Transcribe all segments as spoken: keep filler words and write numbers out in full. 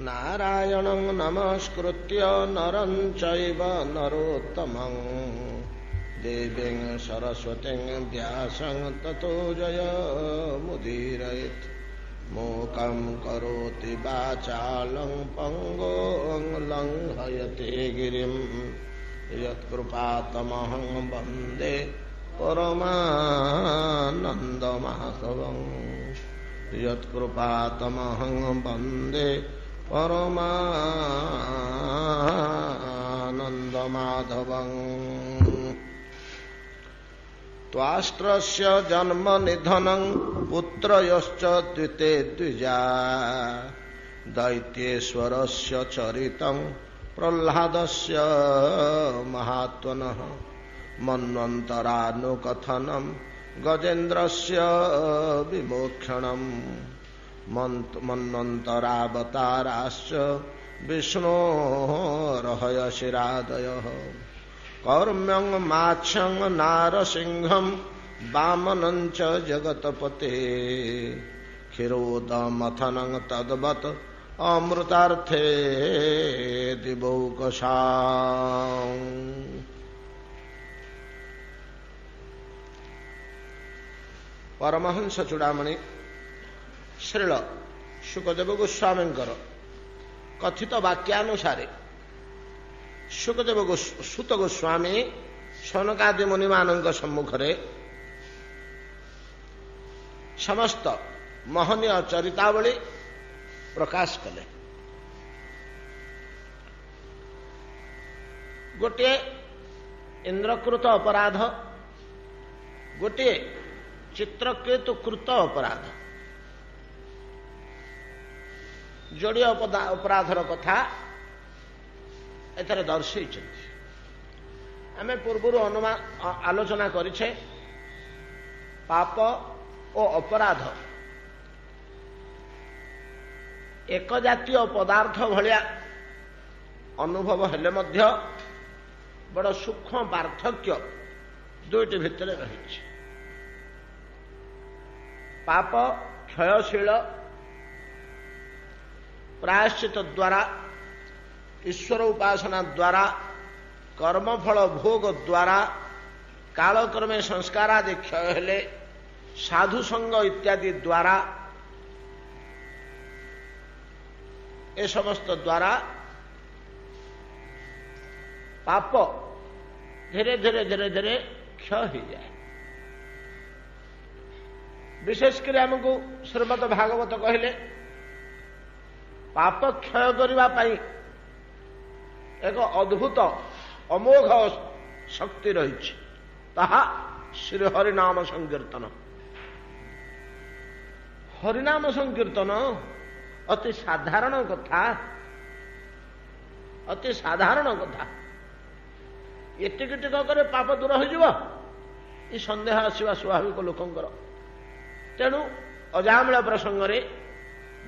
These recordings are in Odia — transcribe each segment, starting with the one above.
ନାରାୟଣଂ ନମସ୍କୃତ୍ୟ ନରଂ ଚୈବ ନରୋତ୍ତମଂ ଦେବୀଂ ସରସ୍ୱତୀଂ ବ୍ୟାସଂ ତତୋ ଜୟମୁଦୀରୟେତ୍। మూకం కరోతి వాచాలం పంగోం లంఘయతే గిరిం యత్కృపాతమహం వందే పరమానందమాధవం. యత్కృపాతమహం వందే పరమానందమాధవం. త్వాష్ట్రస్య జన్మ నిధనం పుత్రయశ్చ ద్వితే ద్విజా దైత్యేశ్వరస్య చరితం ప్రహ్లాదస్య మహాత్మనః మన్వంతరానుకథనం గజేంద్రస్య విమోక్షణం మన్వంతరావతారాశ్చ విష్ణోరహయశిరాదయః కౌర్మ్యం మాచ్యం నారసింహం వామనం చ జగత్పతే క్షీరోదమథనం తద్వత్ అమృతార్థే దివౌకసాం. ପରମହଂସ ଚୂଡ଼ାମଣି ଶ୍ରୀଳ ଶୁକଦେବ ଗୋସ୍ୱାମୀଙ୍କର କଥିତ ବାକ୍ୟାନୁସାରେ ଶୁକଦେବ ସୁତ ଗୋସ୍ୱାମୀ ସନକାଦି ମୁନିମାନଙ୍କ ସମ୍ମୁଖରେ ସମସ୍ତ ମହନୀୟ ଚରିତାବଳୀ ପ୍ରକାଶ କଲେ। ଗୋଟିଏ ଇନ୍ଦ୍ରକୃତ ଅପରାଧ, ଗୋଟିଏ ଚିତ୍ରକେତୁ କୃତ ଅପରାଧ, ଯୋଡ଼ିଏ ଅପରାଧର କଥା ଏଥିରେ ଦର୍ଶେଇଛନ୍ତି। ଆମେ ପୂର୍ବରୁ ଅନୁମାନ ଆଲୋଚନା କରିଛେ, ପାପ ଓ ଅପରାଧ ଏକ ଜାତୀୟ ପଦାର୍ଥ ଭଳିଆ ଅନୁଭବ ହେଲେ ମଧ୍ୟ ବଡ଼ ସୂକ୍ଷ୍ମ ପାର୍ଥକ୍ୟ ଦୁଇଟି ଭିତରେ ରହିଛି। ପାପ କ୍ଷୟଶୀଳ, ପ୍ରାୟଶ୍ଚିତ ଦ୍ୱାରା, ଈଶ୍ୱର ଉପାସନା ଦ୍ୱାରା, କର୍ମଫଳ ଭୋଗ ଦ୍ୱାରା କାଳକ୍ରମେ ସଂସ୍କାର ଆଦି କ୍ଷୟ ହେଲେ ସାଧୁ ସଙ୍ଗ ଇତ୍ୟାଦି ଦ୍ୱାରା, ଏ ସମସ୍ତ ଦ୍ୱାରା ପାପ ଧୀରେ ଧୀରେ ଧୀରେ ଧୀରେ କ୍ଷୟ ହେଇଯାଏ। ବିଶେଷ କରି ଆମକୁ ଶ୍ରୀମଦ ଭାଗବତ କହିଲେ ପାପ କ୍ଷୟ କରିବା ପାଇଁ ଏକ ଅଦ୍ଭୁତ ଅମୋଘ ଶକ୍ତି ରହିଛି, ତାହା ଶ୍ରୀ ହରିନାମ ସଂକୀର୍ତ୍ତନ। ହରିନାମ ସଂକୀର୍ତ୍ତନ ଅତି ସାଧାରଣ କଥା, ଅତି ସାଧାରଣ କଥା। ଏତିକି ଟିକକରେ ପାପ ଦୂର ହୋଇଯିବ, ଏ ସନ୍ଦେହ ଆସିବା ସ୍ୱାଭାବିକ ଲୋକଙ୍କର। ତେଣୁ ଅଜାମଳ ପ୍ରସଙ୍ଗରେ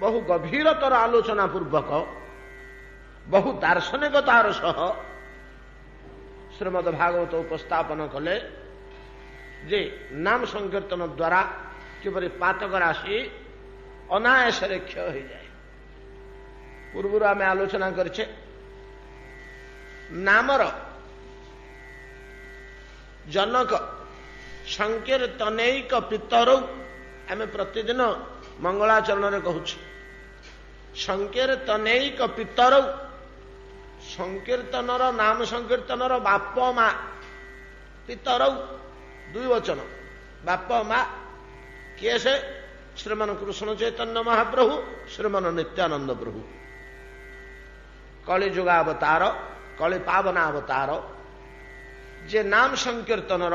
ବହୁ ଗଭୀରତର ଆଲୋଚନା ପୂର୍ବକ ବହୁ ଦାର୍ଶନିକତାର ସହ ଶ୍ରୀମଦ ଭାଗବତ ଉପସ୍ଥାପନ କଲେ ଯେ ନାମ ସଂକୀର୍ତ୍ତନ ଦ୍ୱାରା କିପରି ପାତକ ରାଶି ଅନାୟାସରେ କ୍ଷୟ ହୋଇଯାଏ। ପୂର୍ବରୁ ଆମେ ଆଲୋଚନା କରିଛେ, ନାମର ଜନକ ସଂକୀର୍ତ୍ତନୈକ ପିତରୌ, ଆମେ ପ୍ରତିଦିନ ମଙ୍ଗଳାଚରଣରେ କହୁଛୁ ସଂକୀର୍ତ୍ତନୈକ ପିତରୌ। ସଂକୀର୍ତ୍ତନର ନାମ ସଂକୀର୍ତ୍ତନର ବାପ ମା, ପିତରୌ ଦୁଇ ବଚନ, ବାପ ମା କିଏ ସେ? ଶ୍ରୀମାନ କୃଷ୍ଣ ଚୈତନ୍ୟ ମହାପ୍ରଭୁ, ଶ୍ରୀମାନ ନିତ୍ୟାନନ୍ଦ ପ୍ରଭୁ। କଳି ଯୁଗାବତାର, କଳି ପାବନାବତାର, ଯେ ନାମ ସଂକୀର୍ତ୍ତନର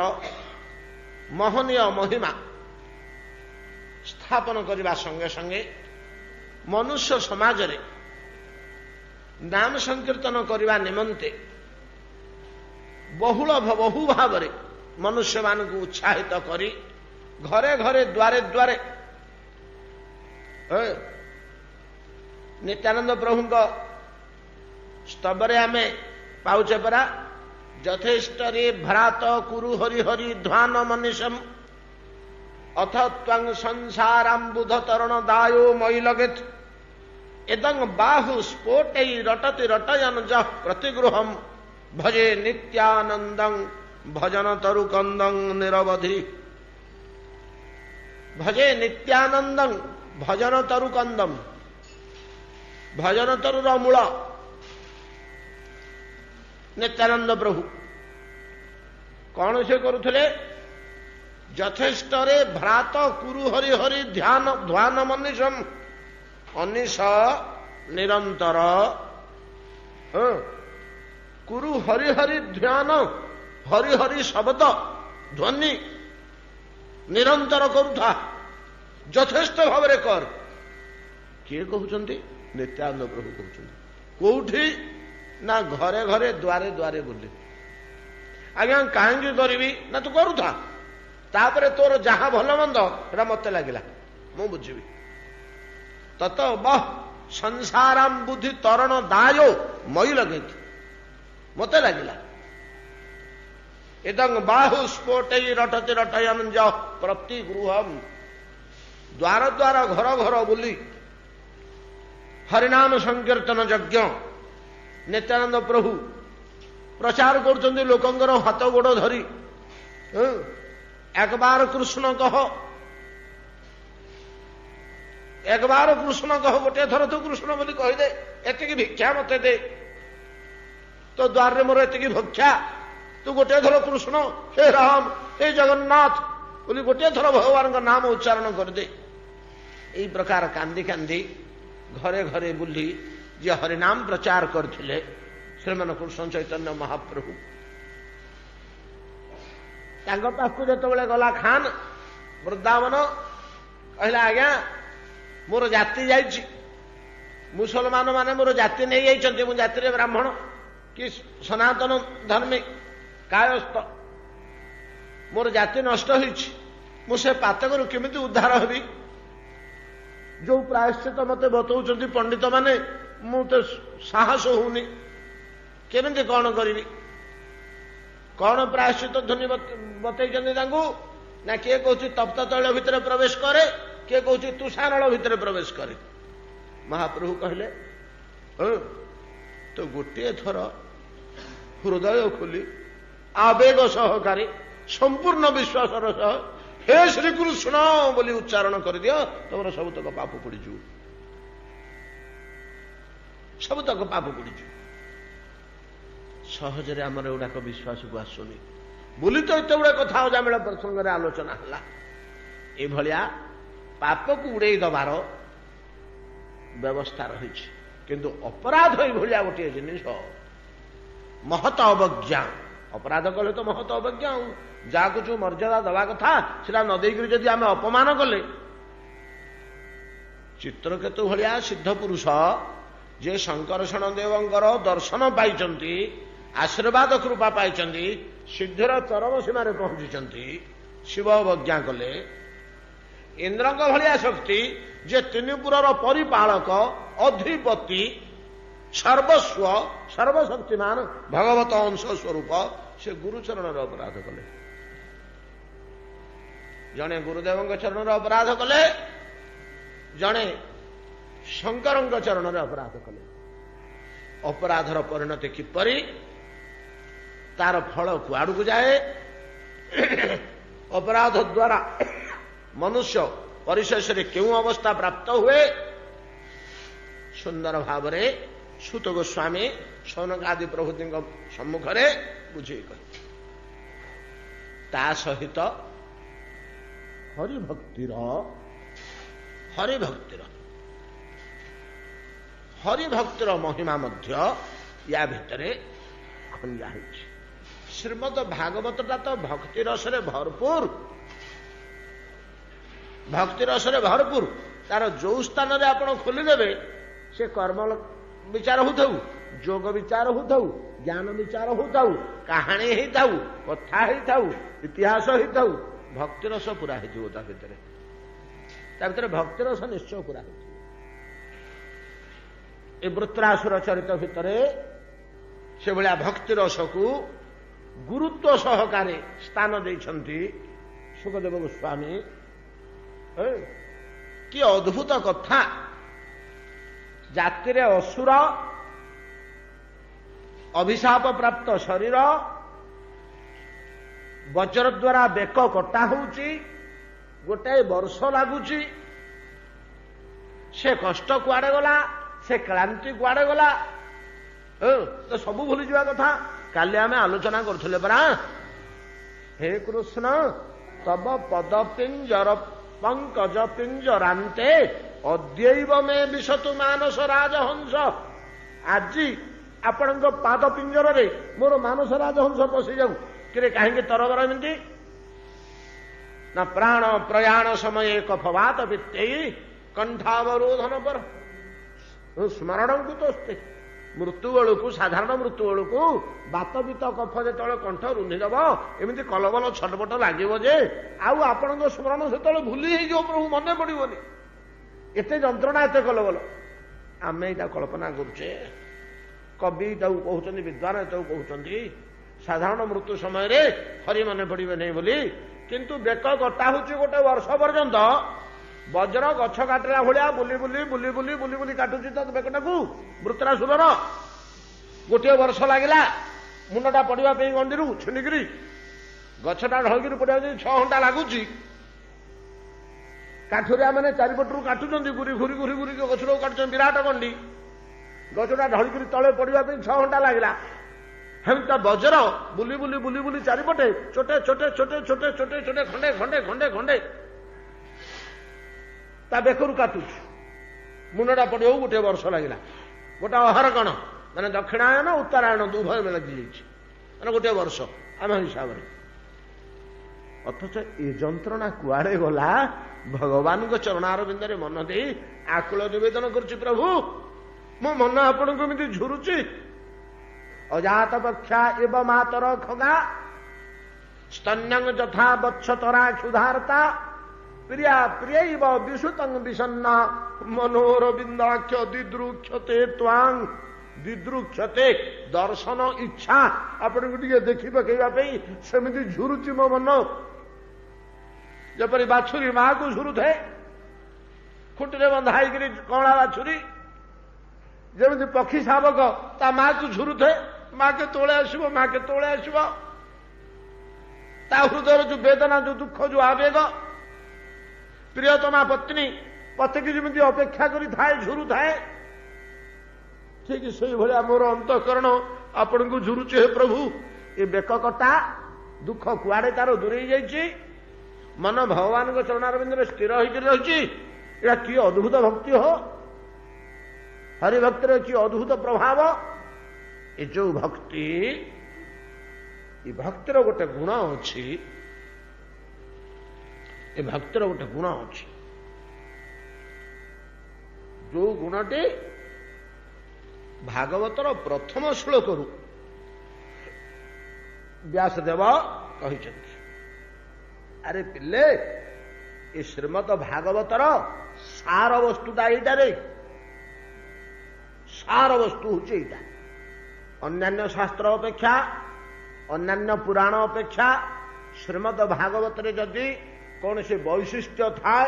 ମହନୀୟ ମହିମା ସ୍ଥାପନ କରିବା ସଙ୍ଗେ ସଙ୍ଗେ ମନୁଷ୍ୟ ସମାଜରେ ନାମ ସଂକୀର୍ତ୍ତନ କରିବା ନିମନ୍ତେ ବହୁଳ ବହୁ ଭାବରେ ମନୁଷ୍ୟମାନଙ୍କୁ ଉତ୍ସାହିତ କରି ଘରେ ଘରେ ଦ୍ୱାରେ ଦ୍ୱାରେ ନିତ୍ୟାନନ୍ଦ ପ୍ରଭୁଙ୍କ ସ୍ତବରେ ଆମେ ପାଉଛେ ପରା, ଯଥେଷ୍ଟରେ ଭ୍ରାତ କୁରୁ ହରି ହରି ଧ୍ୱାନ ମନୀଷମ ଅଥ ତ୍ୱଂ ସଂସାରାମ୍ବୁଧ ତରଣ ଦାୟୋ ମୟି ଲଗେତ। ଏଦଂ ବାହୁ ସ୍ଫୋଟୈ ରଟତି ରଟୟନ ଯଃ ପ୍ରତିଗୃହମ ଭଜେ ନିତ୍ୟାନନ୍ଦଂ ଭଜନ ତରୁକନ୍ଦଂ ନିରବଧି। ଭଜେ ନିତ୍ୟାନନ୍ଦଂ ଭଜନ ତରୁକନ୍ଦମ, ଭଜନ ତରୁର ମୂଳ ନିତ୍ୟାନନ୍ଦ ପ୍ରଭୁ। କଣ ସେ କରୁଥିଲେ? ଯଥେଷ୍ଟରେ ଭ୍ରାତ କୁରୁ ହରି ହରି ଧ୍ୟାନ ଧ୍ୟାନ ମନୀଷମ, ଅନିଶ ନିରନ୍ତର କୁରୁ ହରି ହରି ଧ୍ୟାନ, ହରି ହରି ଶବ୍ଦ ଧ୍ୱନି ନିରନ୍ତର କରୁଥା, ଯଥେଷ୍ଟ ଭାବରେ କର। କିଏ କହୁଛନ୍ତି? ନିତ୍ୟାନନ୍ଦ ପ୍ରଭୁ କହୁଛନ୍ତି। କୋଉଠି? ନା ଘରେ ଘରେ ଦ୍ୱାରେ ଦ୍ୱାରେ ବୁଲି। ଆଜ୍ଞା କାହିଁକି କରିବି? ନା ତୁ କରୁଥା, ତାପରେ ତୋର ଯାହା ଭଲ ମନ୍ଦ ସେଟା ମତେ ଲାଗିଲା, ମୁଁ ବୁଝିବି। ତତ ବହ ସଂସାରାମ ବୁଦ୍ଧି ତରଣ ଦାୟ ମଇ ଲଗେଇଥି, ମତେ ଲାଗିଲା। ଏଦଂ ବାହୁ ସ୍ଫୋଟୈ ରଟତି ରଟୟନ ପ୍ରତି ଗୃହମ, ଦ୍ୱାର ଦ୍ୱାର ଘର ଘର ବୁଲି ହରିନାମ ସଂକୀର୍ତ୍ତନ ଯଜ୍ଞ ନିତ୍ୟାନନ୍ଦ ପ୍ରଭୁ ପ୍ରଚାର କରୁଛନ୍ତି ଲୋକଙ୍କର ହାତ ଗୋଡ଼ ଧରି। ଏକବାର କୃଷ୍ଣ କହ, ଏକବାର କୃଷ୍ଣ କହ, ଗୋଟିଏ ଥର ତୁ କୃଷ୍ଣ ବୋଲି କହିଦେ, ଏତିକି ଭିକ୍ଷା ମତେ ଦେ, ତୋ ଦ୍ୱାରରେ ମୋର ଏତିକି ଭକ୍ଷା, ତୁ ଗୋଟିଏ ଥର କୃଷ୍ଣ ହେ ରାମ ହେ ଜଗନ୍ନାଥ ବୋଲି ଗୋଟିଏ ଥର ଭଗବାନଙ୍କ ନାମ ଉଚ୍ଚାରଣ କରିଦେ। ଏଇ ପ୍ରକାର କାନ୍ଦି କାନ୍ଦି ଘରେ ଘରେ ବୁଲି ଯିଏ ହରିନାମ ପ୍ରଚାର କରିଥିଲେ ଶ୍ରୀମାନ କୃଷ୍ଣ ଚୈତନ୍ୟ ମହାପ୍ରଭୁ, ତାଙ୍କ ପାଖକୁ ଯେତେବେଳେ ଗଲା ଖାନ ବୃନ୍ଦାବନ, କହିଲା ଆଜ୍ଞା ମୋର ଜାତି ଯାଇଛି, ମୁସଲମାନ ମାନେ ମୋର ଜାତି ନେଇଯାଇଛନ୍ତି, ମୁଁ ଜାତିରେ ବ୍ରାହ୍ମଣ କି ସନାତନ ଧର୍ମୀ କାୟସ୍ଥ, ମୋର ଜାତି ନଷ୍ଟ ହେଇଛି, ମୁଁ ସେ ପାତକରୁ କେମିତି ଉଦ୍ଧାର ହେବି? ଯୋଉ ପ୍ରାୟଶ୍ଚିତ ମତେ ବତଉଛନ୍ତି ପଣ୍ଡିତ ମାନେ, ମୁଁ ତ ସାହସ ହଉନି, କେମିତି କଣ କରିବି? କଣ ପ୍ରାୟଶ୍ଚିତ ଧ୍ୱନି ବତେଇଛନ୍ତି ତାଙ୍କୁ? ନା କିଏ କହୁଛି ତପ୍ତ ତୈଳ ଭିତରେ ପ୍ରବେଶ କରେ, କିଏ କହୁଛି ତୁଷାରଳ ଭିତରେ ପ୍ରବେଶ କରେ। ମହାପ୍ରଭୁ କହିଲେ ତ ଗୋଟିଏ ଥର ହୃଦୟ ଖୋଲି ଆବେଗ ସହକାରେ ସମ୍ପୂର୍ଣ୍ଣ ବିଶ୍ୱାସର ସହ ହେ ଶ୍ରୀକୃଷ୍ଣ ବୋଲି ଉଚ୍ଚାରଣ କରିଦିଅ, ତମର ସବୁତକ ପାପ ପୋଡ଼ିଯିବ, ସବୁତକ ପାପ ପୋଡ଼ିଯିବ। ସହଜରେ ଆମର ଏଗୁଡ଼ାକ ବିଶ୍ୱାସକୁ ଆସୁନି ବୋଲି ତ ଏତେ ଗୁଡ଼େ କଥା ଅଜାମିଳ ପ୍ରସଙ୍ଗରେ ଆଲୋଚନା ହେଲା। ଏଭଳିଆ ପାପକୁ ଉଡ଼େଇ ଦେବାର ବ୍ୟବସ୍ଥା ରହିଛି, କିନ୍ତୁ ଅପରାଧ ଏଇଭଳିଆ ଗୋଟିଏ ଜିନିଷ ମହତ ଅବଜ୍ଞା। ଅପରାଧ କଲେ ତ ମହତ ଅବଜ୍ଞା, ଆଉ ଯାହାକୁ ଯୋଉ ମର୍ଯ୍ୟାଦା ଦେବା କଥା ସେଟା ନ ଦେଇକରି ଯଦି ଆମେ ଅପମାନ କଲେ, ଚିତ୍ରକେତୁ ଭଳିଆ ସିଦ୍ଧ ପୁରୁଷ ଯେ ଶଙ୍କରଷଣ ଦେବଙ୍କର ଦର୍ଶନ ପାଇଛନ୍ତି, ଆଶୀର୍ବାଦ କୃପା ପାଇଛନ୍ତି, ସିଦ୍ଧିର ଚରମ ସୀମାରେ ପହଞ୍ଚିଛନ୍ତି, ଶିବ ଅବଜ୍ଞା କଲେ। ଇନ୍ଦ୍ରଙ୍କ ଭଳିଆ ଶକ୍ତି ଯେ ତିନିପୁରର ପରିପାଳକ, ଅଧିପତି, ସର୍ବସ୍ୱ, ସର୍ବଶକ୍ତିମାନ ଭଗବତ ଅଂଶ ସ୍ୱରୂପ, ସେ ଗୁରୁଚରଣର ଅପରାଧ କଲେ। ଜଣେ ଗୁରୁଦେବଙ୍କ ଚରଣର ଅପରାଧ କଲେ, ଜଣେ ଶଙ୍କରଙ୍କ ଚରଣରେ ଅପରାଧ କଲେ। ଅପରାଧର ପରିଣତି କିପରି, ତାର ଫଳ କୁଆଡ଼କୁ ଯାଏ, ଅପରାଧ ଦ୍ୱାରା ମନୁଷ୍ୟ ପରିଶେଷରେ କେଉଁ ଅବସ୍ଥା ପ୍ରାପ୍ତ ହୁଏ, ସୁନ୍ଦର ଭାବରେ ସୁତ ଗୋସ୍ୱାମୀ ସୌନକାଦି ପ୍ରଭୃତିଙ୍କ ସମ୍ମୁଖରେ ବୁଝେଇ କହିଲେ। ତା ସହିତ ହରିଭକ୍ତିର ହରିଭକ୍ତିର ହରିଭକ୍ତିର ମହିମା ମଧ୍ୟ ୟା ଭିତରେ ଖଞ୍ଜା ହେଇଛି। ଶ୍ରୀମଦ ଭାଗବତଟା ତ ଭକ୍ତି ରସରେ ଭରପୁର, ଭକ୍ତି ରସରେ ଭରପୁର। ତାର ଯୋଉ ସ୍ଥାନରେ ଆପଣ ଖୋଲିଦେବେ, ସେ କର୍ମ ବିଚାର ହଉଥାଉ, ଯୋଗ ବିଚାର ହଉଥାଉ, ଜ୍ଞାନ ବିଚାର ହଉଥାଉ, କାହାଣୀ ହେଇଥାଉ, କଥା ହେଇଥାଉ, ଇତିହାସ ହେଇଥାଉ, ଭକ୍ତିରସ ପୁରା ହେଇଯିବ ତା ଭିତରେ। ତା ଭିତରେ ଭକ୍ତିରସ ନିଶ୍ଚୟ ପୁରା ହେଇଯିବ। ଏ ବୃତ୍ରାସୁର ଚରିତ ଭିତରେ ସେଭଳିଆ ଭକ୍ତିରସକୁ ଗୁରୁତ୍ୱ ସହକାରେ ସ୍ଥାନ ଦେଇଛନ୍ତି ଶୁକଦେବ ଗୋସ୍ୱାମୀ। କି ଅଦ୍ଭୁତ କଥା! ଜାତିରେ ଅସୁର, ଅଭିଶାପ ପ୍ରାପ୍ତ ଶରୀର, ବଜ୍ର ଦ୍ୱାରା ବେକ କଟା ହଉଛି, ଗୋଟାଏ ବର୍ଷ ଲାଗୁଛି, ସେ କଷ୍ଟ କୁଆଡେ ଗଲା, ସେ କ୍ଳାନ୍ତି କୁଆଡେ ଗଲା, ତ ସବୁ ଭୁଲିଯିବା କଥା। କାଲି ଆମେ ଆଲୋଚନା କରୁଥିଲେ ପରା, ହେ କୃଷ୍ଣ ତବ ପଦ ପିଞ୍ଜର ପଙ୍କଜ ପିଞ୍ଜରାନ୍ତେ ଅଦ୍ୟୈବ ମେ ବିଶତୁ ମାନସ ରାଜହଂସ। ଆଜି ଆପଣଙ୍କ ପାଦ ପିଞ୍ଜରରେ ମୋର ମାନସ ରାଜହଂସ ପଶିଯାଉ। କିରେ କାହିଁକି ତରବର ଏମିତି? ନା ପ୍ରାଣ ପ୍ରୟାଣ ସମୟେ କଫବାତ ବିତ୍ତେଇ କଣ୍ଠାବରୋଧନ ପର ସ୍ମରଣଙ୍କୁ ତୋସ୍ତେ। ମୃତ୍ୟୁ ବେଳକୁ, ସାଧାରଣ ମୃତ୍ୟୁ ବେଳକୁ ବାତ ବିତ କଫ ଯେତେବେଳେ କଣ୍ଠ ରୁନ୍ଧିଦେବ, ଏମିତି କଲବଲ ଛଟପଟ ଲାଗିବ ଯେ ଆଉ ଆପଣଙ୍କ ସ୍ମରଣ ସେତେବେଳେ ଭୁଲି ହେଇଯିବ, ପ୍ରଭୁ ମନେ ପଡିବନି। ଏତେ ଯନ୍ତ୍ରଣା, ଏତେ କଲବଲ। ଆମେ ଏଇଟା କଳ୍ପନା କରୁଛେ, କବି ତାକୁ କହୁଛନ୍ତି, ବିଦ୍ୱାନ ଏଟାକୁ କହୁଛନ୍ତି, ସାଧାରଣ ମୃତ୍ୟୁ ସମୟରେ ହରି ମନେ ପଡିବେ ନାହିଁ ବୋଲି। କିନ୍ତୁ ବେକ କଟା ହଉଛି ଗୋଟେ ବର୍ଷ ପର୍ଯ୍ୟନ୍ତ, ବଜ୍ର ଗଛ କାଟିଲା ଭଳିଆ ବୁଲି ବୁଲି ବୁଲି ବୁଲି ବୁଲି ବୁଲି କାଟୁଛି ତ ବେକଟାକୁ ବୃତ୍ରାସୁରର। ଗୋଟିଏ ବର୍ଷ ଲାଗିଲା ମୁଣ୍ଡଟା ପଡିବା ପାଇଁ ଗଣ୍ଡିରୁ ଛିଣ୍ଡିକିରି, ଗଛଟା ଢଳିକିରି ପଡିବା ପାଇଁ ଛଅ ଘଣ୍ଟା ଲାଗୁଛି। କାଠୁରିଆ ମାନେ ଚାରିପଟରୁ କାଟୁଛନ୍ତି, ଘୁରି ଘୁରି ଘୁରି ଘୁରି ଗଛଟାକୁ କାଟୁଛନ୍ତି, ବିରାଟ ଗଣ୍ଡି। ଗଛଟା ଢଳିକିରି ତଳେ ପଡିବା ପାଇଁ ଛଅ ଘଣ୍ଟା ଲାଗିଲା। ହେମିତି ବଜ୍ର ବୁଲି ବୁଲି ବୁଲି ବୁଲି ଚାରିପଟେ ଛୋଟେ ଛୋଟେ ଛୋଟେ ଛୋଟେ ଛୋଟେ ଛୋଟେ ଖଣ୍ଡେ ଖଣ୍ଡେ ଖଣ୍ଡେ ଖଣ୍ଡେ ତା ବେକରୁ କାଟୁଛି। ମୁଣ୍ଡଟା ପଡିବାକୁ ଗୋଟିଏ ବର୍ଷ ଲାଗିଲା। ଗୋଟେ ଅହର କଣ ମାନେ ଦକ୍ଷିଣାୟନ ଉତ୍ତରାୟଣ ଉଭୟ ଲାଗିଯାଇଛି, ମାନେ ଗୋଟିଏ ବର୍ଷ ଆମ ହିସାବରେ। ଅଥଚ ଏ ଯନ୍ତ୍ରଣା କୁଆଡେ ଗଲା? ଭଗବାନଙ୍କ ଚରଣାରବିନ୍ଦରେ ମନ ଦେଇ ଆକୁଳ ନିବେଦନ କରୁଛି, ପ୍ରଭୁ ମୋ ମନ ଆପଣଙ୍କୁ ଏମିତି ଝୁରୁଛି। ଅଜାତ ପକ୍ଷା ଏବ ମାତର ଖଗା ସ୍ତନ୍ୟଂ ଯଥା ବତ୍ସତରା କ୍ଷୁଧାର୍ତା ପ୍ରିୟା ପ୍ରିୟୈବ ବିସୁତଂ ବିଷନ୍ନା ମନୋରବିନ୍ଦାକ୍ଷ ଦିଦୃକ୍ଷତେ ତ୍ୱାଂ। ଦିଦୃକ୍ଷତେ ଦର୍ଶନ ଇଚ୍ଛା, ଆପଣଙ୍କୁ ଟିକେ ଦେଖି ପକେଇବା ପାଇଁ ସେମିତି ଝୁରୁଛି ମୋ ମନ। ଯେପରି ବାଛୁରୀ ମାକୁ ଝୁରୁଥାଏ, ଖୁଣ୍ଟିରେ ବନ୍ଧା ହେଇକିରି କଅଁଳା ବାଛୁରୀ, ଯେମିତି ପକ୍ଷୀ ଶାବକ ତା ମାକୁ ଝୁରୁଥାଏ, ମା କେତେବେଳେ ଆସିବ, ମା କେତେବେଳେ ଆସିବ। ତା ହୃଦୟର ଯୋଉ ବେଦନା, ଯୋଉ ଦୁଃଖ, ଯୋଉ ଆବେଗ, ପ୍ରିୟତମା ପତ୍ନୀ ପତିକି ଯେମିତି ଅପେକ୍ଷା କରିଥାଏ, ଝୁରୁଥାଏ, ଠିକ ସେଇଭଳିଆ ମୋର ଅନ୍ତଃକରଣ ଆପଣଙ୍କୁ ଝୁରୁଛି। ହେ ପ୍ରଭୁ, ଏ ବେକ କଟା ଦୁଃଖ କୁଆଡେ ତାର ଦୂରେଇ ଯାଇଛି, ମନ ଭଗବାନଙ୍କ ଚରଣାରବିନ୍ଦରେ ସ୍ଥିର ହେଇକି ରହିଛି। ଏଇଟା କି ଅଦ୍ଭୁତ ଭକ୍ତି ହୋ, ହରିଭକ୍ତିର କି ଅଦ୍ଭୁତ ପ୍ରଭାବ। ଏ ଯୋଉ ଭକ୍ତି, ଏ ଭକ୍ତିର ଗୋଟେ ଗୁଣ ଅଛି, ଏ ଭକ୍ତିର ଗୋଟେ ଗୁଣ ଅଛି, ଯୋଉ ଗୁଣଟି ଭାଗବତର ପ୍ରଥମ ଶ୍ଲୋକରୁ ବ୍ୟାସଦେବ କହିଛନ୍ତି। ଆରେ ପିଲେ, ଏ ଶ୍ରୀମଦ ଭାଗବତର ସାର ବସ୍ତୁଟା ଏଇଟାରେ, ସାର ବସ୍ତୁ ହଉଛି ଏଇଟା। ଅନ୍ୟାନ୍ୟ ଶାସ୍ତ୍ର ଅପେକ୍ଷା, ଅନ୍ୟାନ୍ୟ ପୁରାଣ ଅପେକ୍ଷା ଶ୍ରୀମଦ ଭାଗବତରେ ଯଦି କୌଣସି ବୈଶିଷ୍ଟ୍ୟ ଥାଏ,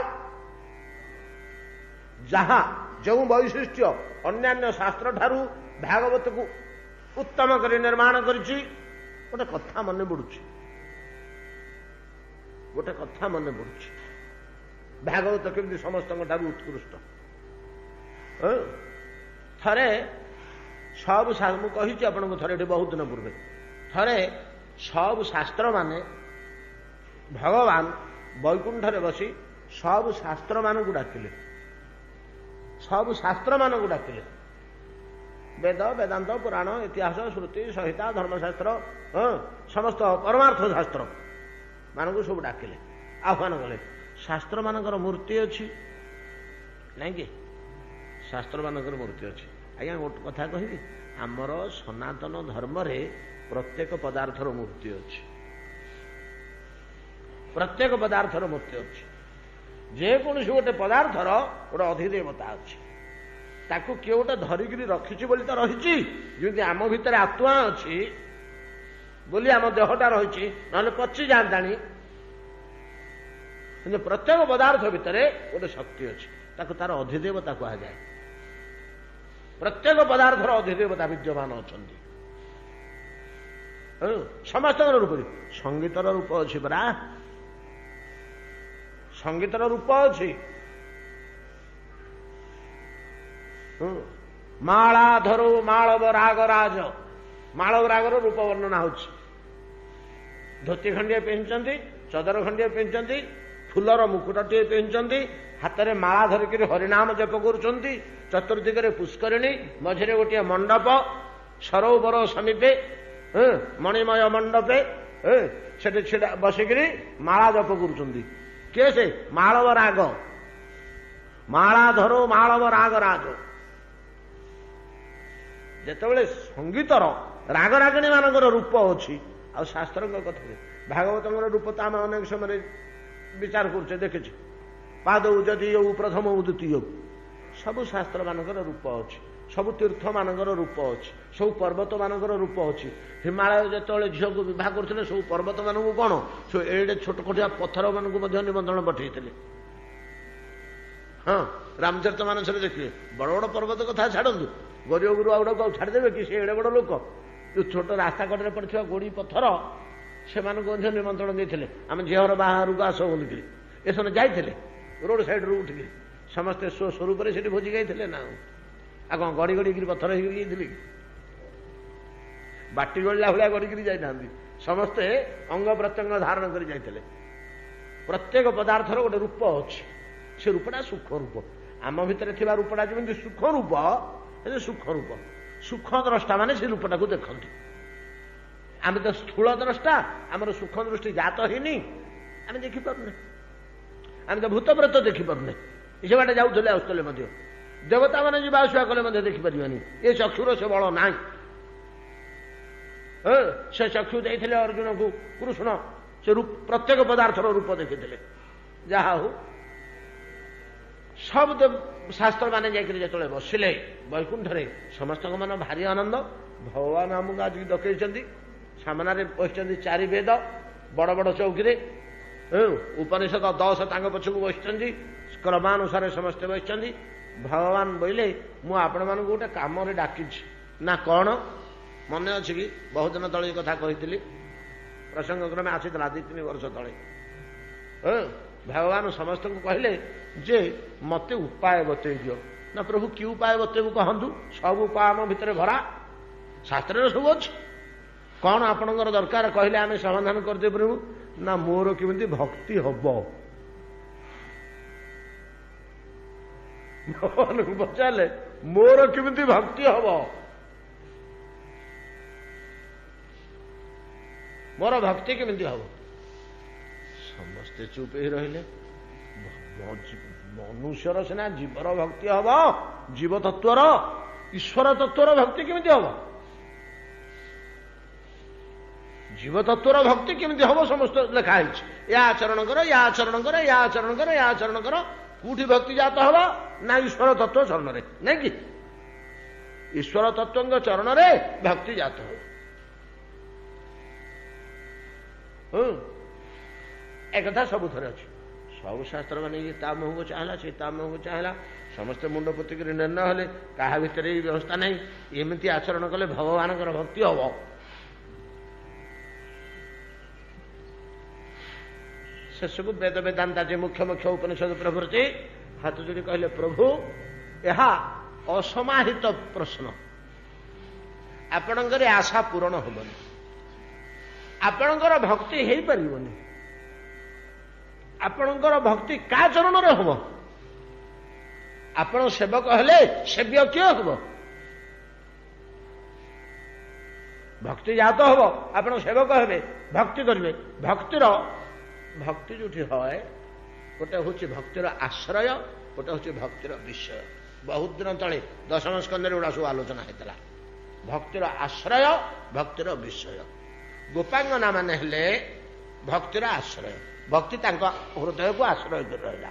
ଯାହା ଯେଉଁ ବୈଶିଷ୍ଟ୍ୟ ଅନ୍ୟାନ୍ୟ ଶାସ୍ତ୍ର ଠାରୁ ଭାଗବତକୁ ଉତ୍ତମ କରି ନିର୍ମାଣ କରିଛି। ଗୋଟେ କଥା ମନେ ପଡୁଛି, ଗୋଟେ କଥା ମନେ ପଡୁଛି, ଭାଗବତ କେମିତି ସମସ୍ତଙ୍କ ଠାରୁ ଉତ୍କୃଷ୍ଟ। ଥରେ ସବୁ, ମୁଁ କହିଛି ଆପଣଙ୍କୁ ଥରେ ଏଠି ବହୁତ ଦିନ ପୂର୍ବେ, ଥରେ ସବୁ ଶାସ୍ତ୍ରମାନେ ଭଗବାନ ବୈକୁଣ୍ଠରେ ବସି ସବୁ ଶାସ୍ତ୍ରମାନଙ୍କୁ ଡାକିଲେ, ସବୁ ଶାସ୍ତ୍ରମାନଙ୍କୁ ଡାକିଲେ, ବେଦ, ବେଦାନ୍ତ, ପୁରାଣ, ଇତିହାସ, ଶ୍ରୁତି, ସଂହିତା, ଧର୍ମଶାସ୍ତ୍ର, ହଁ ସମସ୍ତ ପରମାର୍ଥ ଶାସ୍ତ୍ର ମାନଙ୍କୁ ସବୁ ଡାକିଲେ, ଆହ୍ୱାନ କଲେ। ଶାସ୍ତ୍ରମାନଙ୍କର ମୂର୍ତ୍ତି ଅଛି ନାଇଁ କି? ଶାସ୍ତ୍ରମାନଙ୍କର ମୂର୍ତ୍ତି ଅଛି। ଆଜ୍ଞା ଗୋଟେ କଥା କହିବି, ଆମର ସନାତନ ଧର୍ମରେ ପ୍ରତ୍ୟେକ ପଦାର୍ଥର ମୂର୍ତ୍ତି ଅଛି, ପ୍ରତ୍ୟେକ ପଦାର୍ଥର ମୂର୍ତ୍ତି ଅଛି। ଯେକୌଣସି ଗୋଟେ ପଦାର୍ଥର ଗୋଟେ ଅଧିଦେବତା ଅଛି, ତାକୁ କିଏ ଗୋଟେ ଧରିକିରି ରଖିଛି ବୋଲି ତ ରହିଛି। ଯେମିତି ଆମ ଭିତରେ ଆତ୍ମା ଅଛି ବୋଲି ଆମ ଦେହଟା ରହିଛି, ନହେଲେ ପଚି ଯାଆନ୍ତାଣି। କିନ୍ତୁ ପ୍ରତ୍ୟେକ ପଦାର୍ଥ ଭିତରେ ଗୋଟେ ଶକ୍ତି ଅଛି, ତାକୁ ତାର ଅଧିଦେବତା କୁହାଯାଏ। ପ୍ରତ୍ୟେକ ପଦାର୍ଥର ଅଧିଦେବତା ବିଦ୍ୟମାନ ଅଛନ୍ତି। ସମସ୍ତଙ୍କର ରୂପ, ସଙ୍ଗୀତର ରୂପ ଅଛି ପରା, ସଙ୍ଗୀତର ରୂପ ଅଛି। ମାଳାଧର ମାଳବ ରାଗରାଜ, ମାଳବ ରାଗର ରୂପ ବର୍ଣ୍ଣନା ହଉଛି। ଧୋତି ଖଣ୍ଡିଏ ପିନ୍ଧିଛନ୍ତି, ଚଦର ଖଣ୍ଡିଏ ପିନ୍ଧିଛନ୍ତି, ଫୁଲର ମୁକୁଟଟିଏ ପିନ୍ଧିଛନ୍ତି, ହାତରେ ମାଳା ଧରିକିରି ହରିନାମ ଜପ କରୁଛନ୍ତି। ଚତୁର୍ଦିଗରେ ପୁଷ୍କରିଣୀ, ମଝିରେ ଗୋଟିଏ ମଣ୍ଡପ, ସରୋବର ସମୀପେ ମଣିମୟ ମଣ୍ଡପେ ସେଠି ଛିଡ଼ା ବସିକିରି ମାଳା ଜପ କରୁଛନ୍ତି। କିଏ ସେ? ମାଳବ ରାଗ, ମାଳାଧର ମାଳବ ରାଗ ରାଜ। ଯେତେବେଳେ ସଙ୍ଗୀତର ରାଗରାଗିଣୀ ମାନଙ୍କର ରୂପ ଅଛି, ଆଉ ଶାସ୍ତ୍ରଙ୍କ କଥା, ଭାଗବତଙ୍କର ରୂପ ତ ଆମେ ଅନେକ ସମୟରେ ବିଚାର କରୁଛେ, ଦେଖିଛେ। ପାଦଉ ଯଦି ପ୍ରଥମ ଦ୍ୱିତୀୟ, ସବୁ ଶାସ୍ତ୍ର ମାନଙ୍କର ରୂପ ଅଛି, ସବୁ ତୀର୍ଥ ମାନଙ୍କର ରୂପ ଅଛି, ସବୁ ପର୍ବତ ମାନଙ୍କର ରୂପ ଅଛି। ହିମାଳୟ ଯେତେବେଳେ ଝିଅକୁ ବିବାହ କରୁଥିଲେ, ସବୁ ପର୍ବତ ମାନଙ୍କୁ କଣ, ସବୁ ଏଡ଼େ ଛୋଟ ଛୋଟିଆ ପଥର ମାନଙ୍କୁ ମଧ୍ୟ ନିମନ୍ତ୍ରଣ ପଠେଇଥିଲେ। ହଁ, ରାମଚରିତ ମାନସରେ ଦେଖିବେ, ବଡ଼ ବଡ଼ ପର୍ବତ କଥା ଛାଡ଼ନ୍ତୁ, ଗରିବ ଗୁରୁ ଆଉ ଗୁଡ଼ାକୁ ଆଉ ଛାଡ଼ିଦେବେ କି? ସେ ଏଡ଼େ ବଡ଼ ଲୋକ, ଯୋଉ ଛୋଟ ରାସ୍ତା କଡ଼ରେ ପଡ଼ିଥିବା ଗୋଡ଼ି ପଥର, ସେମାନଙ୍କୁ ମଧ୍ୟ ନିମନ୍ତ୍ରଣ ଦେଇଥିଲେ, ଆମେ ଝିଅର ବାହାରକୁ ଆସ ବୋଲିକିରି। ଏସବୁ ଯାଇଥିଲେ ରୋଡ ସାଇଡରୁ ଉଠିକି ସମସ୍ତେ ସ୍ୱ ସ୍ୱରୂପରେ ସେଠି ଭୋଜି ଖାଇଥିଲେ ନା ଆଉ କଣ ଗଡ଼ି ଗଡ଼ିକିରି ପଥର ହେଇକି ଯାଇଥିଲେ କି? ବାଟି ଗଳିଲା ଭଳିଆ ଗଡ଼ିକିରି ଯାଇନାହାନ୍ତି, ସମସ୍ତେ ଅଙ୍ଗ ପ୍ରତ୍ୟଙ୍ଗ ଧାରଣ କରି ଯାଇଥିଲେ। ପ୍ରତ୍ୟେକ ପଦାର୍ଥର ଗୋଟେ ରୂପ ଅଛି, ସେ ରୂପଟା ସୁଖ ରୂପ। ଆମ ଭିତରେ ଥିବା ରୂପଟା ଯେମିତି ସୁଖ ରୂପ, ସେ ସୁଖ ରୂପ। ସୁଖ ଦ୍ରଷ୍ଟା ମାନେ ସେ ରୂପଟାକୁ ଦେଖନ୍ତି। ଆମେ ତ ସ୍ଥୂଳ ଦ୍ରଷ୍ଟା, ଆମର ସୁଖ ଦୃଷ୍ଟି ଜାତ ହେଇନି, ଆମେ ଦେଖିପାରୁନେ। ଆମେ ତ ଭୂତପ୍ରେତ ଦେଖିପାରୁନେ, ସେ ବାଟେ ଯାଉଥିଲେ ଆସୁଥିଲେ ମଧ୍ୟ, ଦେବତା ମାନେ ଯିବା ଆସିବା କଲେ ମଧ୍ୟ ଦେଖିପାରିବାନି। ଏ ଚକ୍ଷୁର ସେ ବଳ ନାହିଁ। ସେ ଚକ୍ଷୁ ଦେଇଥିଲେ ଅର୍ଜୁନକୁ କୃଷ୍ଣ, ସେ ପ୍ରତ୍ୟେକ ପଦାର୍ଥର ରୂପ ଦେଖିଥିଲେ। ଯାହା ହଉ, ସବୁ ଶାସ୍ତ୍ର ମାନେ ଯାଇକରି ଯେତେବେଳେ ବସିଲେ ବୈକୁଣ୍ଠରେ, ସମସ୍ତଙ୍କ ମନ ଭାରି ଆନନ୍ଦ। ଭଗବାନ ଆମକୁ ଆଜି ଡକେଇଛନ୍ତି। ସାମ୍ନାରେ ବସିଛନ୍ତି ଚାରି ବେଦ ବଡ଼ ବଡ଼ ଚୌକିରେ, ଉପନିଷଦ ଦଶ ତାଙ୍କ ପଛକୁ ବସିଛନ୍ତି, କ୍ରମାନୁସାରେ ସମସ୍ତେ ବସିଛନ୍ତି। ଭଗବାନ ବୋଇଲେ, ମୁଁ ଆପଣମାନଙ୍କୁ ଗୋଟେ କାମରେ ଡାକିଛି। ନା କଣ? ମନେ ଅଛି କି, ବହୁତ ଦିନ ତଳେ କଥା କହିଥିଲି, ପ୍ରସଙ୍ଗ କ୍ରମେ ଆସିଥିଲା ଦୁଇ ତିନି ବର୍ଷ ତଳେ। ଭଗବାନ ସମସ୍ତଙ୍କୁ କହିଲେ ଯେ ମତେ ଉପାୟ ବତେଇ ଦିଅ। ନା ପ୍ରଭୁ, କି ଉପାୟ ବତେଇବୁ କହନ୍ତୁ? ସବୁ ଉପାୟ ଆମ ଭିତରେ ଭରା, ଶାସ୍ତ୍ରରେ ସବୁ ଅଛି। କଣ ଆପଣଙ୍କର ଦରକାର କହିଲେ ଆମେ ସମାଧାନ କରିଦେଇପାରିବୁ। ନା ମୋର କେମିତି ଭକ୍ତି ହବ? ଭଗବାନଙ୍କୁ ପଚାରିଲେ, ମୋର କେମିତି ଭକ୍ତି ହବ, ମୋର ଭକ୍ତି କେମିତି ହବ? ସମସ୍ତେ ଚୁପ୍ ହେଇ ରହିଲେ। ମନୁଷ୍ୟର ସିନା ଜୀବର ଭକ୍ତି ହବ, ଜୀବ ତତ୍ଵର, ଈଶ୍ୱର ତତ୍ଵର ଭକ୍ତି କେମିତି ହବ? ଜୀବ ତତ୍ଵର ଭକ୍ତି କେମିତି ହବ ସମସ୍ତ ଲେଖା ହେଇଛି। ୟା ଆଚରଣ କର, ୟା ଆଚରଣ କର, ୟା ଆଚରଣ କର, ୟା ଆଚରଣ କର, କୋଉଠି ଭକ୍ତି ଜାତ ହବ? ନା ଈଶ୍ୱର ତତ୍ଵ ଚରଣରେ। ନାଇଁ କି ଈଶ୍ୱର ତତ୍ଵଙ୍କ ଚରଣରେ ଭକ୍ତି ଜାତ ହବ। ହୁଁ, ଏକଥା ସବୁଥରେ ଅଛି। ସବୁ ଶାସ୍ତ୍ର ମାନେ ଇଏ ତା ମୁହଁକୁ ଚାହିଁଲା, ସେ ତା ମୁହଁକୁ ଚାହିଁଲା, ସମସ୍ତେ ମୁଣ୍ଡ ପୋତିକିରି ନିର୍ଣ୍ଣୟ ହେଲେ, କାହା ଭିତରେ ଏଇ ବ୍ୟବସ୍ଥା ନାହିଁ। ଏମିତି ଆଚରଣ କଲେ ଭଗବାନଙ୍କର ଭକ୍ତି ହବ। ଶେଷକୁ ବେଦ ବେଦାନ୍ତା ଯେ ମୁଖ୍ୟ ମୁଖ୍ୟ ଉପନିଷଦ ପ୍ରଭୃତି ହାତ ଯୋଡ଼ି କହିଲେ, ପ୍ରଭୁ ଏହା ଅସମାହିତ ପ୍ରଶ୍ନ, ଆପଣଙ୍କର ଆଶା ପୂରଣ ହେବନି, ଆପଣଙ୍କର ଭକ୍ତି ହେଇପାରିବନି। ଆପଣଙ୍କର ଭକ୍ତି କାହା ଚରଣରେ ହବ? ଆପଣ ସେବକ ହେଲେ ସେବ୍ୟ କିଏ ହବ? ଭକ୍ତି ଜାତ ହବ, ଆପଣ ସେବକ ହେବେ, ଭକ୍ତି କରିବେ। ଭକ୍ତିର ଭକ୍ତି ଯୋଉଠି হয়, ଗୋଟେ ହଉଛି ଭକ୍ତିର ଆଶ୍ରୟ, ଗୋଟେ ହଉଛି ଭକ୍ତିର ବିଷୟ। ବହୁତ ଦିନ ତଳେ ଦଶମ ସ୍କନ୍ଧରେ ଗୁଡ଼ା ସବୁ ଆଲୋଚନା ହେଇଥିଲା। ଭକ୍ତିର ଆଶ୍ରୟ, ଭକ୍ତିର ବିଷୟ। ଗୋପାଙ୍ଗନା ମାନେ ହେଲେ ଭକ୍ତିର ଆଶ୍ରୟ, ଭକ୍ତି ତାଙ୍କ ହୃଦୟକୁ ଆଶ୍ରୟ କରି ରହିଲା।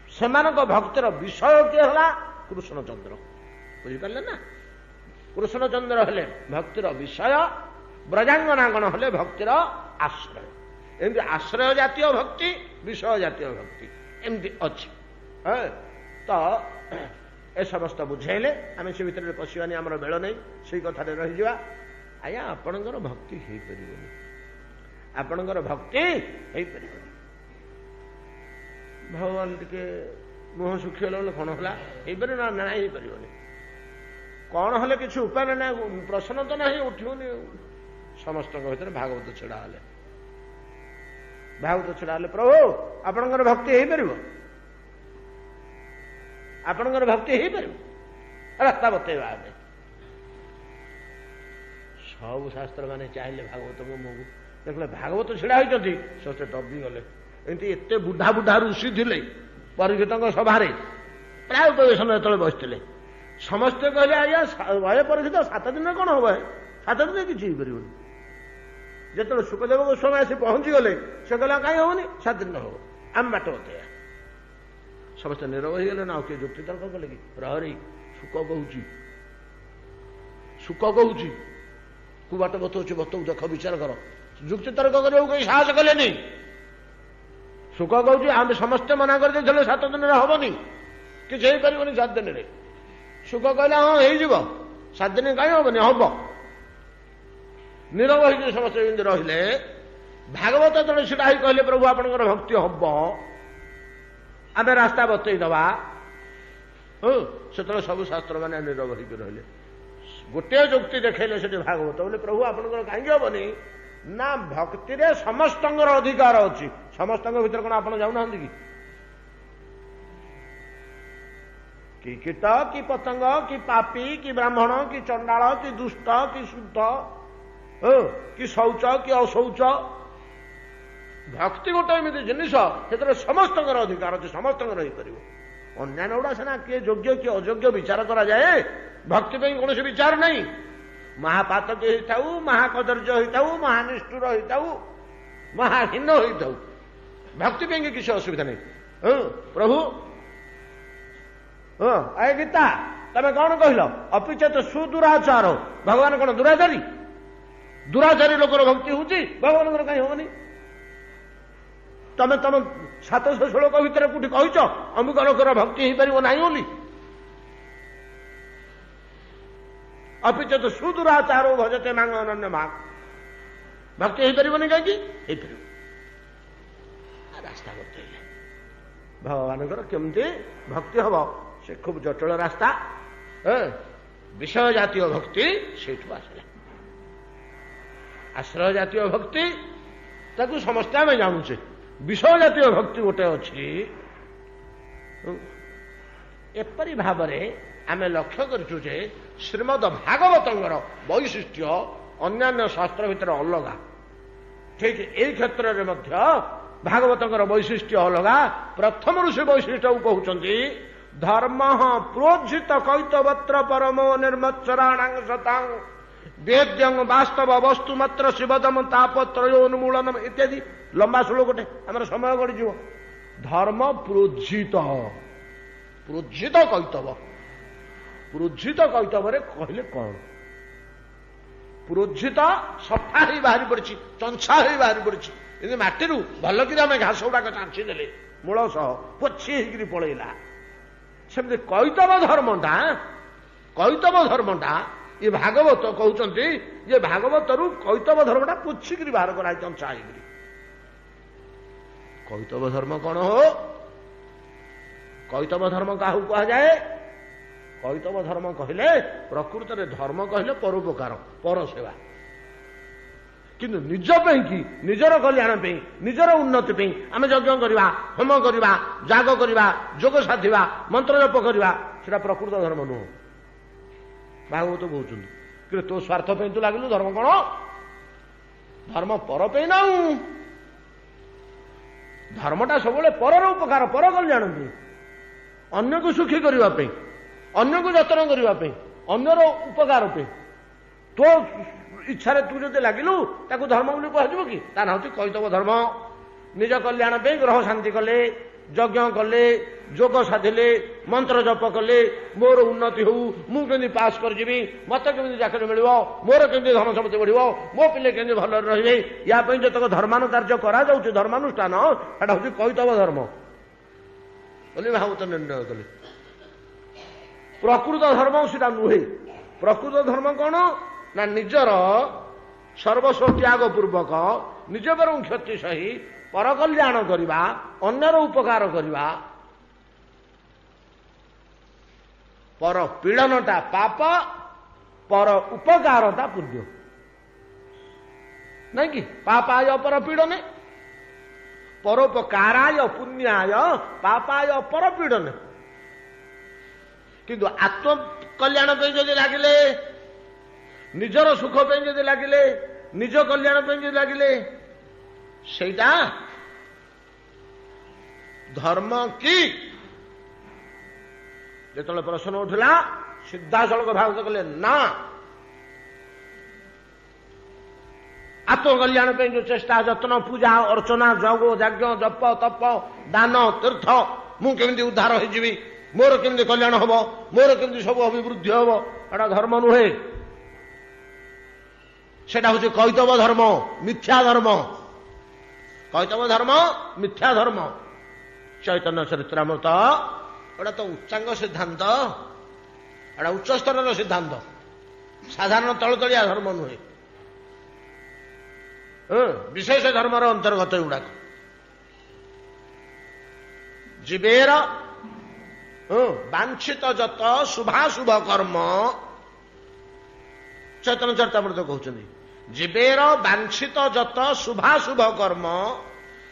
ସେମାନଙ୍କ ଭକ୍ତିର ବିଷୟ କିଏ ହେଲା? କୃଷ୍ଣଚନ୍ଦ୍ର। ବୁଝିପାରିଲେ ନା? କୃଷ୍ଣଚନ୍ଦ୍ର ହେଲେ ଭକ୍ତିର ବିଷୟ, ବ୍ରଜାଙ୍ଗନାଗଣ ହେଲେ ଭକ୍ତିର ଆଶ୍ରୟ। ଏମିତି ଆଶ୍ରୟ ଜାତୀୟ ଭକ୍ତି, ବିଷୟ ଜାତୀୟ ଭକ୍ତି ଏମିତି ଅଛି। ତ ଏ ସମସ୍ତ ବୁଝେଇଲେ। ଆମେ ସେ ଭିତରେ ପଶିବାନି, ଆମର ବେଳ ନେଇ, ସେଇ କଥାରେ ରହିଯିବା। ଆଜ୍ଞା, ଆପଣଙ୍କର ଭକ୍ତି ହେଇପାରିବନି, ଆପଣଙ୍କର ଭକ୍ତି ହେଇପାରିବନି। ଭଗବାନ ଟିକେ ମୁହଁ ଶୁଖିଗଲା ବୋଲେ, କ'ଣ ହେଲା, ହେଇପାରିବ ନା? ନା, ହେଇପାରିବନି। କ'ଣ ହେଲେ? କିଛି ଉପାୟ ନା, ପ୍ରଶ୍ନ ତ ନାହିଁ, ଉଠିବନି। ସମସ୍ତଙ୍କ ଭିତରେ ଭାଗବତ ଛିଡ଼ା ହେଲେ, ଭାଗବତ ଛିଡ଼ା ହେଲେ, ପ୍ରଭୁ ଆପଣଙ୍କର ଭକ୍ତି ହେଇପାରିବ, ଆପଣଙ୍କର ଭକ୍ତି ହେଇପାରିବ, ରାସ୍ତା ବତେଇବା ଆମେ। ସବୁ ଶାସ୍ତ୍ର ମାନେ ଚାହିଁଲେ ଭାଗବତଙ୍କ ମୁହଁକୁ। ଦେଖିଲେ ଭାଗବତ ଛିଡ଼ା ହେଇଛନ୍ତି, ସମସ୍ତେ ଦବିଗଲେ। ଏମିତି ଏତେ ବୁଢା ବୁଢା ଋଷି ଥିଲେ ପରୀକ୍ଷିତଙ୍କ ସଭାରେ, ପ୍ରାୟ ଉପବେଶନ ଯେତେବେଳେ ବସିଥିଲେ, ସମସ୍ତେ କହିଲେ, ଆଜ୍ଞା ଭୟ ପରୀକ୍ଷିତ, ସାତ ଦିନରେ କ'ଣ ହବ? ସାତ ଦିନରେ କିଛି ହେଇପାରିବନି। ଯେତେବେଳେ ଶୁକଦେବ ଗୋସ୍ୱାମୀ ଆସି ପହଞ୍ଚିଗଲେ, ସେ କହିଲା, କାହିଁ ହବନି? ସାତ ଦିନ ହବ, ଆମେ ବାଟ ବତେଇବା। ସମସ୍ତେ ନିରବ ହେଇଗଲେ ନା, ଆଉ କିଏ ଯୁକ୍ତି ତର୍କ କଲେ କି? ପ୍ରହରୀ, ଶୁକ କହୁଛି, ଶୁକ କହୁଛି, କୁ ବାଟ ବତଉଛି ବତଉ, ଦେଖ ବିଚାର କର। ଯୁକ୍ତି ତର୍କ କରିବାକୁ କେହି ସାହସ କଲେନି। ଶୁକ କହୁଛି, ଆମେ ସମସ୍ତେ ମନା କରିଦେଇଥିଲେ ସାତ ଦିନରେ ହବନି, କିଛି ହେଇପାରିବନି ସାତ ଦିନରେ। ଶୁକ କହିଲା, ହଁ ହେଇଯିବ, ସାତ ଦିନ କାହିଁ ହବନି, ହବ। ନିରବ ହେଇକି ସମସ୍ତେ ଯେମିତି ରହିଲେ, ଭାଗବତ ଯେତେବେଳେ ଛିଡ଼ା ହେଇ କହିଲେ, ପ୍ରଭୁ ଆପଣଙ୍କର ଭକ୍ତି ହବ, ଆମେ ରାସ୍ତା ବତେଇ ଦେବା, ହଁ, ସେତେବେଳେ ସବୁ ଶାସ୍ତ୍ର ମାନେ ନିରବ ହେଇକି ରହିଲେ। ଗୋଟିଏ ଯୁକ୍ତି ଦେଖେଇଲେ ସେଠି ଭାଗବତ ବୋଲେ, ପ୍ରଭୁ ଆପଣଙ୍କର କାହିଁକି ହବନି ନା, ଭକ୍ତିରେ ସମସ୍ତଙ୍କର ଅଧିକାର ଅଛି। ସମସ୍ତଙ୍କ ଭିତରେ କଣ ଆପଣ ଯାଉନାହାନ୍ତି କି? କି କୀଟ, କି ପତଙ୍ଗ, କି ପାପି, କି ବ୍ରାହ୍ମଣ, କି ଚଣ୍ଡାଳ, କି ଦୁଷ୍ଟ, କି ଶୁଦ୍ଧ, କି ଶୌଚ, କି ଅଶୌଚ, ଭକ୍ତି ଗୋଟେ ଏମିତି ଜିନିଷ ସେଥିରେ ସମସ୍ତଙ୍କର ଅଧିକାର ଅଛି, ସମସ୍ତଙ୍କର ହେଇପାରିବ। ଅନ୍ୟାନ୍ୟ ଗୁଡ଼ା ସିନା କିଏ ଯୋଗ୍ୟ କିଏ ଅଯୋଗ୍ୟ ବିଚାର କରାଯାଏ, ଭକ୍ତି ପାଇଁ କୌଣସି ବିଚାର ନାହିଁ। ମହାପାତକ ହେଇଥାଉ, ମହାକଦର୍ଯ୍ୟ ହେଇଥାଉ, ମହାନିଷ୍ଠୁର ହେଇଥାଉ, ମହାହୀନ ହେଇଥାଉ, ଭକ୍ତି ପାଇଁ କିଛି ଅସୁବିଧା ନାହିଁ। ହଁ ପ୍ରଭୁ, ହଁ ଆଏ ଗୀତା, ତମେ କଣ କହିଲ? ଅପିଚେତ ସୁଦୁରାଚାର। ଭଗବାନ କଣ ଦୁରାଚାରୀ? ଦୁରାଚାରୀ ଲୋକର ଭକ୍ତି ହଉଛି, ଭଗବାନଙ୍କର କାହିଁ ହବନି? ତମେ ତମ ସାତଶହ ଶ୍ଳୋକ ଭିତରେ କୋଉଠି କହିଛ ଅମୁକ ଲୋକର ଭକ୍ତି ହେଇପାରିବ ନାହିଁ ବୋଲି? ଅପିଚେତ ସୁଦୁରାଚାର ଭଜତେ ମାଙ୍ଗ ଅନନ୍ୟ ମା, ଭକ୍ତି ହେଇପାରିବନି କାହିଁକି? ହେଇପାରିବ। ରାସ୍ତା ବତେଇଲେ ଭଗବାନଙ୍କର କେମିତି ଭକ୍ତି ହବ, ସେ ଖୁବ ଜଟିଳ ରାସ୍ତା। ବିଷୟ ଜାତୀୟ ଭକ୍ତି ସେଇଠୁ ଆସିଲା। ଆଶ୍ରୟ ଜାତୀୟ ଭକ୍ତି ତାକୁ ସମସ୍ତେ ଆମେ ଜାଣୁଛେ। ବିଷୟ ଜାତୀୟ ଭକ୍ତି ଗୋଟେ ଅଛି। ଏପରି ଭାବରେ ଆମେ ଲକ୍ଷ୍ୟ କରିଛୁ ଯେ ଶ୍ରୀମଦ ଭାଗବତଙ୍କର ବୈଶିଷ୍ଟ୍ୟ ଅନ୍ୟାନ୍ୟ ଶାସ୍ତ୍ର ଭିତରେ ଅଲଗା। ଠିକ ଏଇ କ୍ଷେତ୍ରରେ ମଧ୍ୟ ଭାଗବତଙ୍କର ବୈଶିଷ୍ଟ୍ୟ ଅଲଗା। ପ୍ରଥମରୁ ସେ ବୈଶିଷ୍ଟ୍ୟକୁ କହୁଛନ୍ତି, ଧର୍ମ ପ୍ରୋଜ୍ଝିତ କୈତବତ୍ର ପରମୋ ନିର୍ମତ୍ସରାଣାଂ ସତାଂ ବେଦ୍ୟଂ ବାସ୍ତବ ବସ୍ତୁ ମାତ୍ର ଶିବଦମ ତାପତ୍ରୟୋନ୍ମୂଳନ ଇତ୍ୟାଦି। ଲମ୍ବା ଶ୍ଲୋକଟେ, ଆମର ସମୟ ଗଡ଼ିଯିବ। ଧର୍ମ ପ୍ରୋଜ୍ଝିତ, ପ୍ରୋଜ୍ଝିତ କୈତବ, ପ୍ରୋଜ୍ଝିତ କୈତବରେ କହିଲେ କଣ? ପ୍ରୋଜ୍ଝିତ ସଫା ହେଇ ବାହାରି ପଡ଼ିଛି, ଚଞ୍ଛା ହେଇ ବାହାରି ପଡ଼ିଛି। ଏମିତି ମାଟିରୁ ଭଲ କରି ଆମେ ଘାସ ଗୁଡାକ ଚାଞ୍ଚି ଦେଲେ, ମୂଳ ସହ ପୋଛି ହେଇକିରି ପଳେଇଲା, ସେମିତି କୈତବ ଧର୍ମଟା, କୈତବ ଧର୍ମଟା ଇଏ ଭାଗବତ କହୁଛନ୍ତି ଯେ ଭାଗବତରୁ କୈତବ ଧର୍ମଟା ପୋଛିକିରି ବାହାର କରାହେଇଛି, ଚଞ୍ଚା ହେଇକିରି। କୈତବ ଧର୍ମ କଣ ହୋ? କୈତବ ଧର୍ମ କାହାକୁ କୁହାଯାଏ? କୈତବ ଧର୍ମ କହିଲେ, ପ୍ରକୃତରେ ଧର୍ମ କହିଲେ ପରୋପକାର, ପର ସେବା। କିନ୍ତୁ ନିଜ ପାଇଁ କି, ନିଜର କଲ୍ୟାଣ ପାଇଁ, ନିଜର ଉନ୍ନତି ପାଇଁ ଆମେ ଯଜ୍ଞ କରିବା, ହୋମ କରିବା, ଯାଗ କରିବା, ଯୋଗ ସାଧିବା, ମନ୍ତ୍ର ଜପ କରିବା, ସେଟା ପ୍ରକୃତ ଧର୍ମ ନୁହଁ। ଭାଗବତ କହୁଛନ୍ତି କିନ୍ତୁ ତୋ ସ୍ୱାର୍ଥ ପାଇଁ ତୁ ଲାଗିଲୁ, ଧର୍ମ କଣ? ଧର୍ମ ପର ପାଇଁ ନା। ଧର୍ମଟା ସବୁବେଳେ ପରର ଉପକାର, ପର କଲ୍ୟାଣ ପାଇଁ, ଅନ୍ୟକୁ ସୁଖୀ କରିବା ପାଇଁ, ଅନ୍ୟକୁ ଯତ୍ନ କରିବା ପାଇଁ, ଅନ୍ୟର ଉପକାର ପାଇଁ। ତୋ ଇଚ୍ଛାରେ ତୁ ଯଦି ଲାଗିଲୁ, ତାକୁ ଧର୍ମ ବୋଲି କୁହାଯିବ କି? ତା ନାଁ ହଉଛି କୈତବ ଧର୍ମ। ନିଜ କଲ୍ୟାଣ ପାଇଁ ଗ୍ରହ ଶାନ୍ତି କଲେ, ଯଜ୍ଞ କଲେ, ଯୋଗ ସାଧିଲେ, ମନ୍ତ୍ର ଜପ କଲେ, ମୋର ଉନ୍ନତି ହଉ, ମୁଁ କେମିତି ପାସ୍ କରିଯିବି, ମତେ କେମିତି ଚାକିରି ମିଳିବ, ମୋର କେମିତି ଧନ ସମ୍ପତ୍ତି ବଢିବ, ମୋ ପିଲେ କେମିତି ଭଲରେ ରହିବେ, ୟା ପାଇଁ ଯେତକ ଧର୍ମାନୁ କାର୍ଯ୍ୟ କରାଯାଉଛି, ଧର୍ମାନୁଷ୍ଠାନ, ସେଟା ହଉଛି କୈତବ ଧର୍ମ ବୋଲି ଭାଗବତ ନିର୍ଣ୍ଣୟ କଲେ। ପ୍ରକୃତ ଧର୍ମ ସେଟା ନୁହେଁ। ପ୍ରକୃତ ଧର୍ମ କଣ ନା ନିଜର ସର୍ବସ୍ୱ ତ୍ୟାଗ ପୂର୍ବକ ନିଜ ବରଂ କ୍ଷତି ସହି ପରକଲ୍ୟାଣ କରିବା, ଅନ୍ୟର ଉପକାର କରିବା। ପର ପୀଡ଼ନଟା ପାପ, ପର ଉପକାରଟା ପୁଣ୍ୟ, ନାଇଁ କି? ପାପାୟ ପର ପୀଡ଼ନେ, ପରୋପକାରାୟ ପୁଣ୍ୟାୟ ପାପାୟ ପରପୀଡ଼ନେ। କିନ୍ତୁ ଆତ୍ମକଲ୍ୟାଣ ପାଇଁ ଯଦି ଲାଗିଲେ, ନିଜର ସୁଖ ପାଇଁ ଯଦି ଲାଗିଲେ, ନିଜ କଲ୍ୟାଣ ପାଇଁ ଯଦି ଲାଗିଲେ, ସେଇଟା ଧର୍ମ କି? ଯେତେବେଳେ ପ୍ରଶ୍ନ ଉଠିଲା, ସିଧାସଳଖ ଭାଗବତ କହିଲେ ନା। ଆତ୍ମକଲ୍ୟାଣ ପାଇଁ ଯୋଉ ଚେଷ୍ଟା, ଯତ୍ନ, ପୂଜା ଅର୍ଚ୍ଚନା, ଯଗ ଯଜ୍ଞ, ଜପ ତପ, ଦାନ ତୀର୍ଥ, ମୁଁ କେମିତି ଉଦ୍ଧାର ହେଇଯିବି, ମୋର କେମିତି କଲ୍ୟାଣ ହବ, ମୋର କେମିତି ସବୁ ଅଭିବୃଦ୍ଧି ହବ, ଏଟା ଧର୍ମ ନୁହେଁ। ସେଟା ହଉଛି କୈତବ ଧର୍ମ, ମିଥ୍ୟା ଧର୍ମ। କୈତବ ଧର୍ମ ମିଥ୍ୟା ଧର୍ମ। ଚୈତନ୍ୟ ଚରିତ୍ରାମୃତ ଏଟା ତ ଉଚ୍ଚାଙ୍ଗ ସିଦ୍ଧାନ୍ତ, ଏଟା ଉଚ୍ଚସ୍ତରର ସିଦ୍ଧାନ୍ତ, ସାଧାରଣ ତଳତଳିଆ ଧର୍ମ ନୁହେଁ, ବିଶେଷ ଧର୍ମର ଅନ୍ତର୍ଗତ ଏଗୁଡ଼ାକ। ଜୀବେର ବାଞ୍ଛିତ ଯତ ଶୁଭାଶୁଭ କର୍ମ, ଚୈତନ୍ୟ ଚରିତାମୃତ କହୁଛନ୍ତି, ଜୀବେର ବାଞ୍ଛିତ ଯତ ଶୁଭାଶୁଭ କର୍ମ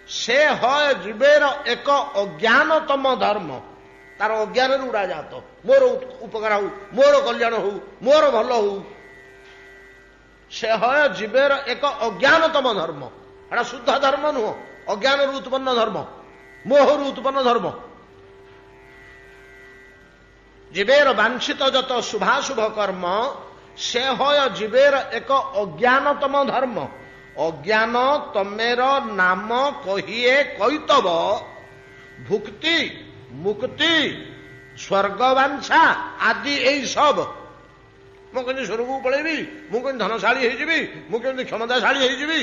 ସେ ହୟ ଜୀବେର ଏକ ଅଜ୍ଞାନତମ ଧର୍ମ। ତାର ଅଜ୍ଞାନରୁ ଉଡ଼ାଜାତ, ମୋର ଉପକାର ହଉ, ମୋର କଲ୍ୟାଣ ହଉ, ମୋର ଭଲ ହଉ, ସେ ହୟ ଜୀବେର ଏକ ଅଜ୍ଞାନତମ ଧର୍ମ। ଏଟା ଶୁଦ୍ଧ ଧର୍ମ ନୁହଁ, ଅଜ୍ଞାନରୁ ଉତ୍ପନ୍ନ ଧର୍ମ, ମୋହରୁ ଉତ୍ପନ୍ନ ଧର୍ମ। ଜୀବେର ବାଞ୍ଛିତ ଯତ ଶୁଭାଶୁଭ କର୍ମ ସେ ହୟ ଜୀବେର ଏକ ଅଜ୍ଞାନତମ ଧର୍ମ। ଅଜ୍ଞାନ ତମେର ନାମ କହିଏ କୈତବ, ଭୁକ୍ତି ମୁକ୍ତି ସ୍ୱର୍ଗବାଞ୍ଛା ଆଦି ଏଇ ସବ। ମୁଁ କେମିତି ସ୍ୱର୍ଗକୁ ପଳେଇବି, ମୁଁ କେମିତି ଧନଶାଳୀ ହେଇଯିବି, ମୁଁ କେମିତି କ୍ଷମତାଶାଳୀ ହେଇଯିବି,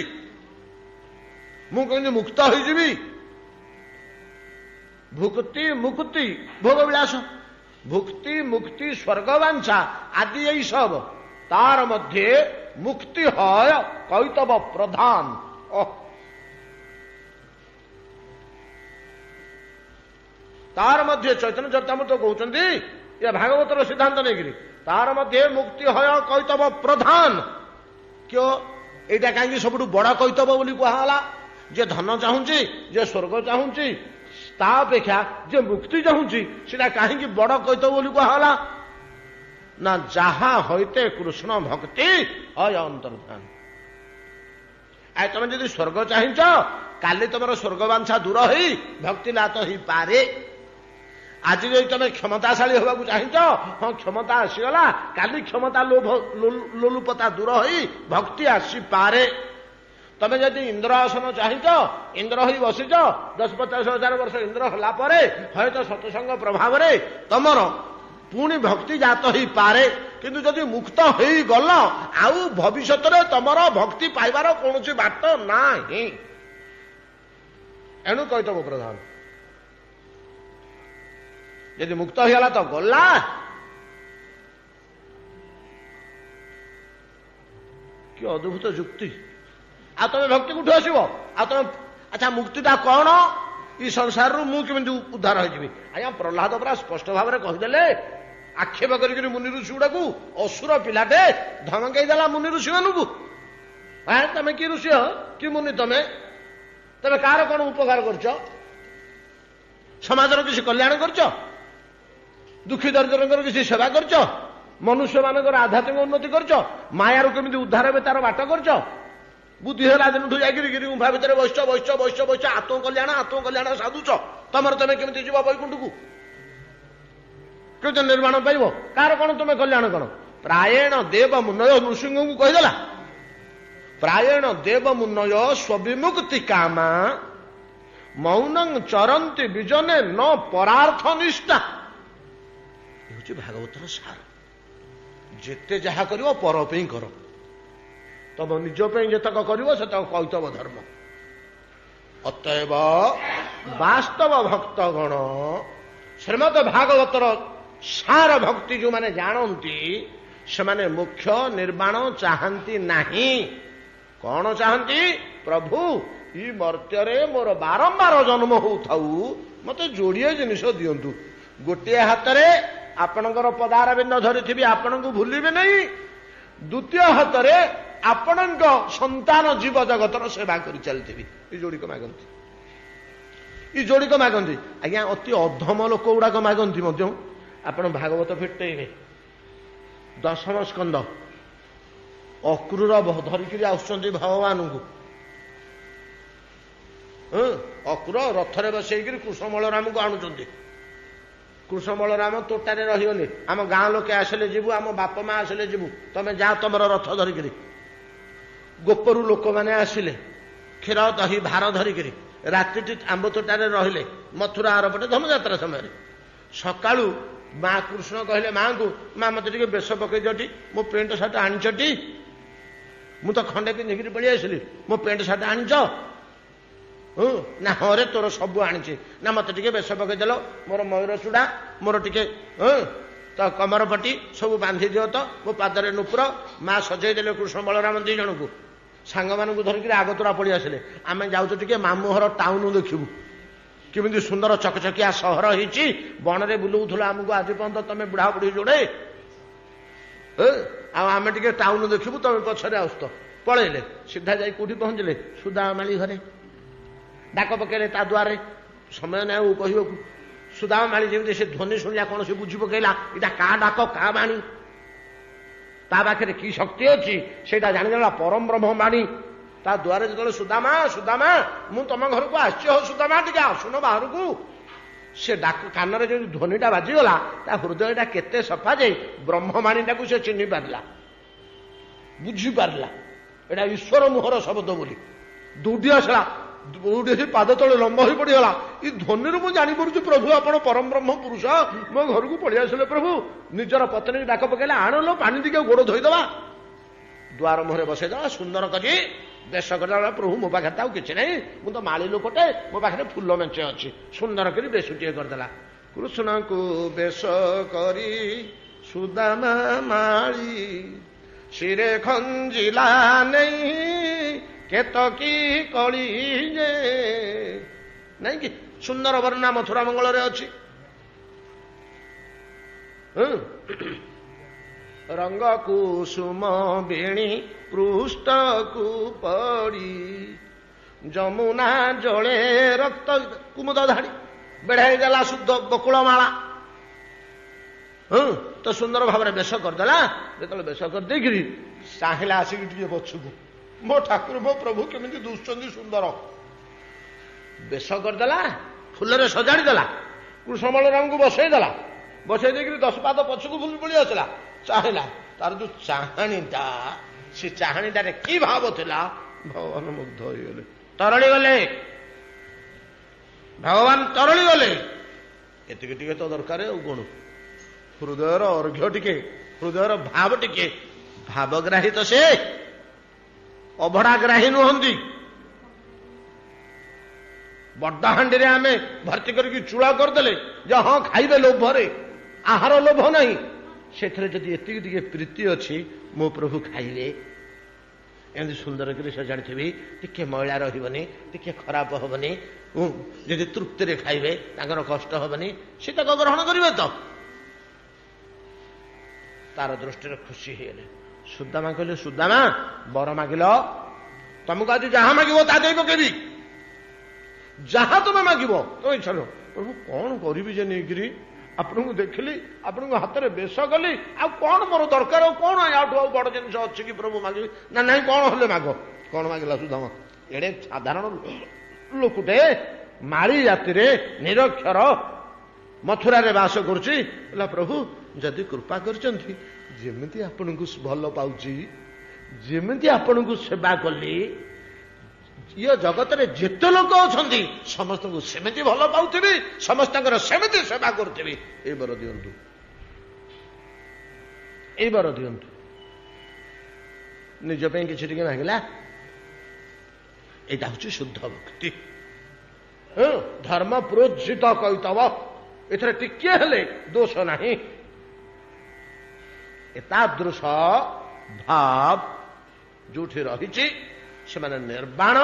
ମୁଁ କେମିତି ମୁକ୍ତ ହେଇଯିବି। ଭୁକ୍ତି ମୁକ୍ତି ଭୋଗବିଳାସ, ଭୁକ୍ତି ମୁକ୍ତି ସ୍ୱର୍ଗବାଞ୍ଛା ଆଦି ଏଇ ସବ, ତାର ମଧ୍ୟେ ମୁକ୍ତି ହୟ କୈତବ ପ୍ରଧାନ। ଓହ, ତାର ମଧ୍ୟ ଚୈତନ୍ୟ ଚରିତାମୃତ କହୁଛନ୍ତି ଏ ଭାଗବତର ସିଦ୍ଧାନ୍ତ ନେଇକିରି, ତାର ମଧ୍ୟ ମୁକ୍ତି ହୟ କୈତବ ପ୍ରଧାନ। କିଓ ଏଇଟା କାହିଁକି ସବୁଠୁ ବଡ କୈତବ ବୋଲି କୁହାଗଲା? ଯେ ଧନ ଚାହୁଁଛି, ଯେ ସ୍ୱର୍ଗ ଚାହୁଁଛି, ତା ଅପେକ୍ଷା ଯେ ମୁକ୍ତି ଚାହୁଁଛି ସେଟା କାହିଁକି ବଡ କୈତବ ବୋଲି କୁହାଗଲା? ନା ଯାହା ହଇତେ କୃଷ୍ଣ ଭକ୍ତି ହୟ ଅନ୍ତର୍ଧାନ। ଆ ତମେ ଯଦି ସ୍ୱର୍ଗ ଚାହିଁଛ, କାଲି ତମର ସ୍ୱର୍ଗବାଞ୍ଛା ଦୂର ହେଇ ଭକ୍ତି ଲାତ ହେଇପାରେ। ଆଜି ଯଦି ତମେ କ୍ଷମତାଶାଳୀ ହେବାକୁ ଚାହିଁଛ, ହଁ କ୍ଷମତା ଆସିଗଲା, କାଲି କ୍ଷମତା ଲୋଭ ଲୋଲୁପତା ଦୂର ହେଇ ଭକ୍ତି ଆସିପାରେ। ତମେ ଯଦି ଇନ୍ଦ୍ର ଆସନ ଚାହିଁଛ, ଇନ୍ଦ୍ର ହୋଇ ବସିଛ, ଦଶ ପଚାଶ ହଜାର ବର୍ଷ ଇନ୍ଦ୍ର ହେଲା ପରେ ହୁଏତ ସତ୍ସଙ୍ଗ ପ୍ରଭାବରେ ତମର ପୁଣି ଭକ୍ତି ଜାତ ହେଇପାରେ। କିନ୍ତୁ ଯଦି ମୁକ୍ତ ହେଇଗଲ, ଆଉ ଭବିଷ୍ୟତରେ ତମର ଭକ୍ତି ପାଇବାର କୌଣସି ବାଟ ନାହିଁ। ଏଣୁ କୈତବ ପ୍ରଧାନ। ଯଦି ମୁକ୍ତ ହେଇଗଲା ତ ଗଲା। କି ଅଦ୍ଭୁତ ଯୁକ୍ତି! ଆଉ ତମେ ଭକ୍ତି କୋଉଠୁ ଆସିବ? ଆଉ ତମେ ଆଚ୍ଛା ମୁକ୍ତିଟା କଣ? ଏଇ ସଂସାରରୁ ମୁଁ କେମିତି ଉଦ୍ଧାର ହେଇଯିବି? ଆଜ୍ଞା ପ୍ରହ୍ଲାଦ ପୁରା ସ୍ପଷ୍ଟ ଭାବରେ କହିଦେଲେ, ଆକ୍ଷେପ କରିକିରି ମୁନି ଋଷି ଗୁଡାକୁ, ଅସୁର ପିଲାଟେ ଧମକେଇ ଦେଲା ମୁନି ଋଷି ମାନଙ୍କୁ, ତମେ କି ଋଷି ହ, କି ମୁନି ତମେ, ତମେ କାହାର କଣ ଉପକାର କରୁଛ, ସମାଜର କିଛି କଲ୍ୟାଣ କରୁଛ, ଦୁଃଖୀ ଦରିଦ୍ରଙ୍କର କିଛି ସେବା କରୁଛ, ମନୁଷ୍ୟମାନଙ୍କର ଆଧ୍ୟାତ୍ମିକ ଉନ୍ନତି କରୁଛ, ମାୟାରୁ କେମିତି ଉଦ୍ଧାର ହେବେ ତାର ବାଟ କରୁଛ? ବୁଦ୍ଧି ହେଲା ଦିନଠୁ ଯାଇକିରି ଗିରି ଗୁମ୍ଫା ଭିତରେ ବସିଛ ବସିଛ ବସିଛ ବସିଛ, ଆତ୍ମକଲ୍ୟାଣ ଆତ୍ମକଲ୍ୟାଣ ସାଧୁଛ, ତମର ତମେ କେମିତି ଯିବ ବୈକୁଣ୍ଠକୁ, କେମିତି ନିର୍ମାଣ ପାଇବ, କାହାର କଣ ତୁମେ କଲ୍ୟାଣ କର? ପ୍ରାୟେଣ ଦେବ ମୁନୟ, ନୃସିଂହଙ୍କୁ କହିଦେଲା, ପ୍ରାୟେଣ ଦେବ ମୁନୟ ସ୍ୱବିମୁକ୍ତି କାମା ମୌନଂ ଚରନ୍ତି ବିଜନେ ନ ପରାର୍ଥ ନିଷ୍ଠା। ଏ ହଉଛି ଭାଗବତର ସାର। ଯେତେ ଯାହା କରିବ ପର ପାଇଁ କର, ତମ ନିଜ ପାଇଁ ଯେତକ କରିବ ସେତକ କୈତବ ଧର୍ମ। ଅତଏବ ବାସ୍ତବ ଭକ୍ତଗଣ ଶ୍ରୀମଦ ଭାଗବତର ସାର ଭକ୍ତି ଯେଉଁମାନେ ଜାଣନ୍ତି ସେମାନେ ମୋକ୍ଷ ନିର୍ବାଣ ଚାହାନ୍ତି ନାହିଁ। କଣ ଚାହାନ୍ତି? ପ୍ରଭୁ ଇ ମର୍ତ୍ତ୍ୟରେ ମୋର ବାରମ୍ବାର ଜନ୍ମ ହଉଥାଉ, ମତେ ଯୋଡ଼ିଏ ଜିନିଷ ଦିଅନ୍ତୁ। ଗୋଟିଏ ହାତରେ ଆପଣଙ୍କର ପଦାରବିନ୍ଦ ଧରିଥିବି, ଆପଣଙ୍କୁ ଭୁଲିବେ ନାହିଁ। ଦ୍ୱିତୀୟ ହାତରେ ଆପଣଙ୍କ ସନ୍ତାନ ଜୀବ ଜଗତର ସେବା କରି ଚାଲିଥିବି। ଏ ଯୋଡ଼ିକ ମାଗନ୍ତି, ଏ ଯୋଡ଼ିକ ମାଗନ୍ତି ଆଜ୍ଞା। ଅତି ଅଧମ ଲୋକ ଗୁଡ଼ାକ ମାଗନ୍ତି ମଧ୍ୟ। ଆପଣ ଭାଗବତ ଫିଟେଇବେ, ଦଶମ ସ୍କନ୍ଦ, ଅକ୍ରୁର ଧରିକିରି ଆସୁଛନ୍ତି ଭଗବାନଙ୍କୁ। ଅକ୍ରୁର ରଥରେ ବସେଇକିରି କୃଷ୍ଣ ବଳରାମକୁ ଆଣୁଛନ୍ତି। କୃଷ୍ଣ ବଳରାମ ତୋଟାରେ ରହିଗଲେ। ଆମ ଗାଁ ଲୋକେ ଆସିଲେ ଯିବୁ, ଆମ ବାପା ମା ଆସିଲେ ଯିବୁ, ତମେ ଯା ତମର ରଥ ଧରିକିରି। ଗୋପରୁ ଲୋକମାନେ ଆସିଲେ କ୍ଷୀର ଦହି ଭାର ଧରିକିରି। ରାତିଟି ଆମ୍ବ ତୋଟାରେ ରହିଲେ ମଥୁରା ଆରପଟେ ଧନୁଯାତ୍ରା ସମୟରେ। ସକାଳୁ ମା କୃଷ୍ଣ କହିଲେ ମାଙ୍କୁ, ମା ମତେ ଟିକେ ବେଶ ପକେଇ ଦିଅଟି, ମୋ ପ୍ୟାଣ୍ଟ ସାର୍ଟ ଆଣିଛଟି? ମୁଁ ତ ଖଣ୍ଡେ ପିନ୍ଧିକିରି ପଳେଇ ଆସିଲି, ମୋ ପ୍ୟାଣ୍ଟ ସାର୍ଟ ଆଣିଛ? ହଁ ନା ହଁ ରେ ତୋର ସବୁ ଆଣିଛି। ନା ମତେ ଟିକେ ବେଶ ପକେଇଦେଲ, ମୋର ମୟୂର ଚୂଡ଼ା, ମୋର ଟିକେ ହଁ ତ କମର ପଟି ସବୁ ବାନ୍ଧି ଦିଅ ତ, ମୋ ପାଦରେ ନୁପୁର। ମା ସଜେଇ ଦେଲେ କୃଷ୍ଣ ବଳରାମ ଦି ଜଣଙ୍କୁ। ସାଙ୍ଗମାନଙ୍କୁ ଧରିକିରି ଆଗତୁରା ପଳେଇ ଆସିଲେ। ଆମେ ଯାଉଛୁ ଟିକେ ମାମୁଁ ଘର ଟାଉନ ଦେଖିବୁ, କେମିତି ସୁନ୍ଦର ଚକଚକିଆ ସହର ହେଇଛି। ବଣରେ ବୁଲଉଥିଲ ଆମକୁ ଆଜି ପର୍ଯ୍ୟନ୍ତ ତମେ ବୁଢା ବୁଢୀ ଯୋଡ଼େ, ଆଉ ଆମେ ଟିକେ ଟାଉନ ଦେଖିବୁ, ତମେ ପଛରେ ଆସୁଛ। ପଳେଇଲେ ସିଧା ଯାଇ କୋଉଠି ପହଞ୍ଚିଲେ? ସୁଦାମାଳି ଘରେ। ଡାକ ପକେଇଲେ ତା ଦ୍ୱାରେ, ସମୟ ନାହିଁ ଆଉ କହିବାକୁ। ସୁଦାମା ମାଳି ଯେମିତି ସେ ଧ୍ୱନି ଶୁଣିଲା କଣ ସେ ବୁଝି ପକେଇଲା ଏଇଟା କାହା ଡାକ, କାହା ବାଣୀ, ତା ପାଖରେ କି ଶକ୍ତି ଅଛି ସେଇଟା ଜାଣିଦେଲା ପରମ ବ୍ରହ୍ମ ବାଣୀ। ତା ଦ୍ୱାରେ ଯେତେବେଳେ ସୁଦାମା ସୁଦାମା ମୁଁ ତମ ଘରକୁ ଆସିଛି, ହଉ ସୁଦାମା ଟିକେ ଆସୁନ ବାହାରକୁ, ସେ ଡାକ କାନରେ ଯେମିତି ଧ୍ୱନିଟା ବାଜିଗଲା ତା ହୃଦୟଟା କେତେ ସଫା ଯେ ବ୍ରହ୍ମବାଣୀଟାକୁ ସେ ଚିହ୍ନି ପାରିଲା, ବୁଝିପାରିଲା ଏଇଟା ଈଶ୍ୱର ମୁହଁର ଶବ୍ଦ ବୋଲି। ଦୌଡ଼ି ଆସିଲା, ଦୌଡ଼ି ଆସି ପାଦ ତଳେ ଲମ୍ବ ହୋଇ ପଡ଼ିଗଲା। ଏ ଧ୍ୱନିରୁ ମୁଁ ଜାଣିପାରୁଛି ପ୍ରଭୁ ଆପଣ ପରମ ବ୍ରହ୍ମ ପୁରୁଷ, ମୋ ଘରକୁ ପଳେଇ ଆସିଲେ ପ୍ରଭୁ। ନିଜର ପତ୍ନୀକି ଡାକ ପକେଇଲେ, ଆଣଲୋ ପାଣି ଟିକେ ଗୋଡ଼ ଧୋଇଦେବା। ଦୁଆର ମୁହଁରେ ବସେଇଦେଲା ସୁନ୍ଦର କରି ବେଶ କରିଦେଲା। ପ୍ରଭୁ ମୋ ପାଖରେ ତ ଆଉ କିଛି ନାହିଁ, ମୁଁ ତ ମାଳି ଲୋକଟେ, ମୋ ପାଖରେ ଫୁଲ ମେଞ୍ଚେ ଅଛି। ସୁନ୍ଦର କରି ବେଶଟିଏ କରିଦେଲା। କୃଷ୍ଣଙ୍କୁ ବେଶ କରି ସୁଦାମା ମାଳି ଶିରେ ଖଞ୍ଜିଲା ନେଇ କେତକୀ କଳି ଯେ, ନାଇଁ କି ସୁନ୍ଦର ବର୍ଣ୍ଣନା ମଥୁରା ମଙ୍ଗଳରେ ଅଛି। ରଙ୍ଗ କୁସୁମ ବେଣୀ ପୃଷ୍ଠକୁ ପଡ଼ି ଯମୁନା ଜଳେ ରକ୍ତ କୁମୁଦ ଧାଡ଼ି ବେଢ଼ାଇ ଦେଲା ଶୁଦ୍ଧ ବକୁଳ ମାଳା। ହଁ ତ ସୁନ୍ଦର ଭାବରେ ବେଶ କରିଦେଲା। ଯେତେବେଳେ ବେଶ କରିଦେଇକିରି ଚାହିଁଲା ଆସିକି ଟିକେ ପଛକୁ, ମୋ ଠାକୁର ମୋ ପ୍ରଭୁ କେମିତି ଦୁଶୁଛନ୍ତି ସୁନ୍ଦର। ବେଶ କରିଦେଲା, ଫୁଲରେ ସଜାଡ଼ି ଦେଲା, କୃଷ୍ଣ ବଳରାମଙ୍କୁ ବସେଇ ଦେଲା। ବସେଇ ଦେଇକିରି ଦଶ ପାଦ ପଛକୁ ଭୁଲି ପଳେଇ ଆସିଲା। ଚାହିଁଲା, ତାର ଯୋଉ ଚାହାଣୀଟା, ସେ ଚାହାଣୀଟାରେ କି ଭାବ ଥିଲା, ଭଗବାନ ମୁଗ୍ଧ ହେଇଗଲେ, ତରଳି ଗଲେ। ଭଗବାନ ତରଳି ଗଲେ। ଏତିକି ଟିକେ ତ ଦରକାର, ଆଉ କଣ? ହୃଦୟର ଅର୍ଘ୍ୟ ଟିକେ, ହୃଦୟର ଭାବ ଟିକେ। ଭାବଗ୍ରାହୀ ତ ସେ, ଅଭଡ଼ାଗ୍ରାହୀ ନୁହନ୍ତି। ବଡ ହାଣ୍ଡିରେ ଆମେ ଭର୍ତ୍ତି କରିକି ଚୂଳା କରିଦେଲେ ଯେ ହଁ ଖାଇବେ ଲୋଭରେ, ଆହାର ଲୋଭ ନାହିଁ। ସେଥିରେ ଯଦି ଏତିକି ଟିକେ ପ୍ରୀତି ଅଛି, ମୋ ପ୍ରଭୁ ଖାଇବେ, ଏମିତି ସୁନ୍ଦର କରି ସଜାଡ଼ିଥିବି, ଟିକେ ମଇଳା ରହିବନି, ଟିକେ ଖରାପ ହବନି, ଯଦି ତୃପ୍ତିରେ ଖାଇବେ ତାଙ୍କର କଷ୍ଟ ହବନି, ସେ ତାକୁ ଗ୍ରହଣ କରିବେ ତ। ତାର ଦୃଷ୍ଟିରେ ଖୁସି ହେଇଗଲେ। ସୁଦାମା କହିଲେ, ସୁଦାମା ବର ମାଗିଲ, ତମକୁ ଆଜି ଯାହା ମାଗିବ ତା ଦେଇ ପକେଇବି, ଯାହା ତମେ ମାଗିବ ତମେ ଇଚ୍ଛା। ପ୍ରଭୁ କଣ କରିବି ଯେ ନେଇକିରି ଆପଣଙ୍କୁ ଦେଖିଲି, ଆପଣଙ୍କ ହାତରେ ବେଶ କଲି, ଆଉ କଣ ମୋର ଦରକାର, ଆଉ କଣ ୟାଠୁ ଆଉ ବଡ ଜିନିଷ ଅଛି କି ପ୍ରଭୁ ମାଗିବି? ନା ନାଇଁ, କଣ ହେଲେ ମାଗ। କଣ ମାଗିଲା ସୁଦାମା? ଏଡ଼େ ସାଧାରଣ ଲୋକଟେ, ମାଳି ଜାତିରେ, ନିରକ୍ଷର, ମଥୁରାରେ ବାସ କରୁଛି। ହେଲା ପ୍ରଭୁ ଯଦି କୃପା କରିଛନ୍ତି, ଯେମିତି ଆପଣଙ୍କୁ ଭଲ ପାଉଛି, ଯେମିତି ଆପଣଙ୍କୁ ସେବା କଲି, ଇଏ ଜଗତରେ ଯେତେ ଲୋକ ଅଛନ୍ତି ସମସ୍ତଙ୍କୁ ସେମିତି ଭଲ ପାଉଥିବି, ସମସ୍ତଙ୍କର ସେମିତି ସେବା କରୁଥିବି, ଏଇ ବର ଦିଅନ୍ତୁ, ଏଇ ବର ଦିଅନ୍ତୁ। ନିଜ ପାଇଁ କିଛି ଟିକେ ମାଗିଲା। ଏଇଟା ହଉଛି ଶୁଦ୍ଧ ଭକ୍ତି, ଧର୍ମ ପ୍ରୋଜ୍ଜିତ କୈତବ। ଏଥିରେ ଟିକିଏ ହେଲେ ଦୋଷ ନାହିଁ। ଏତାଦୃଶ ଭାବ ଯୋଉଠି ରହିଛି, ସେମାନେ ନିର୍ବାଣ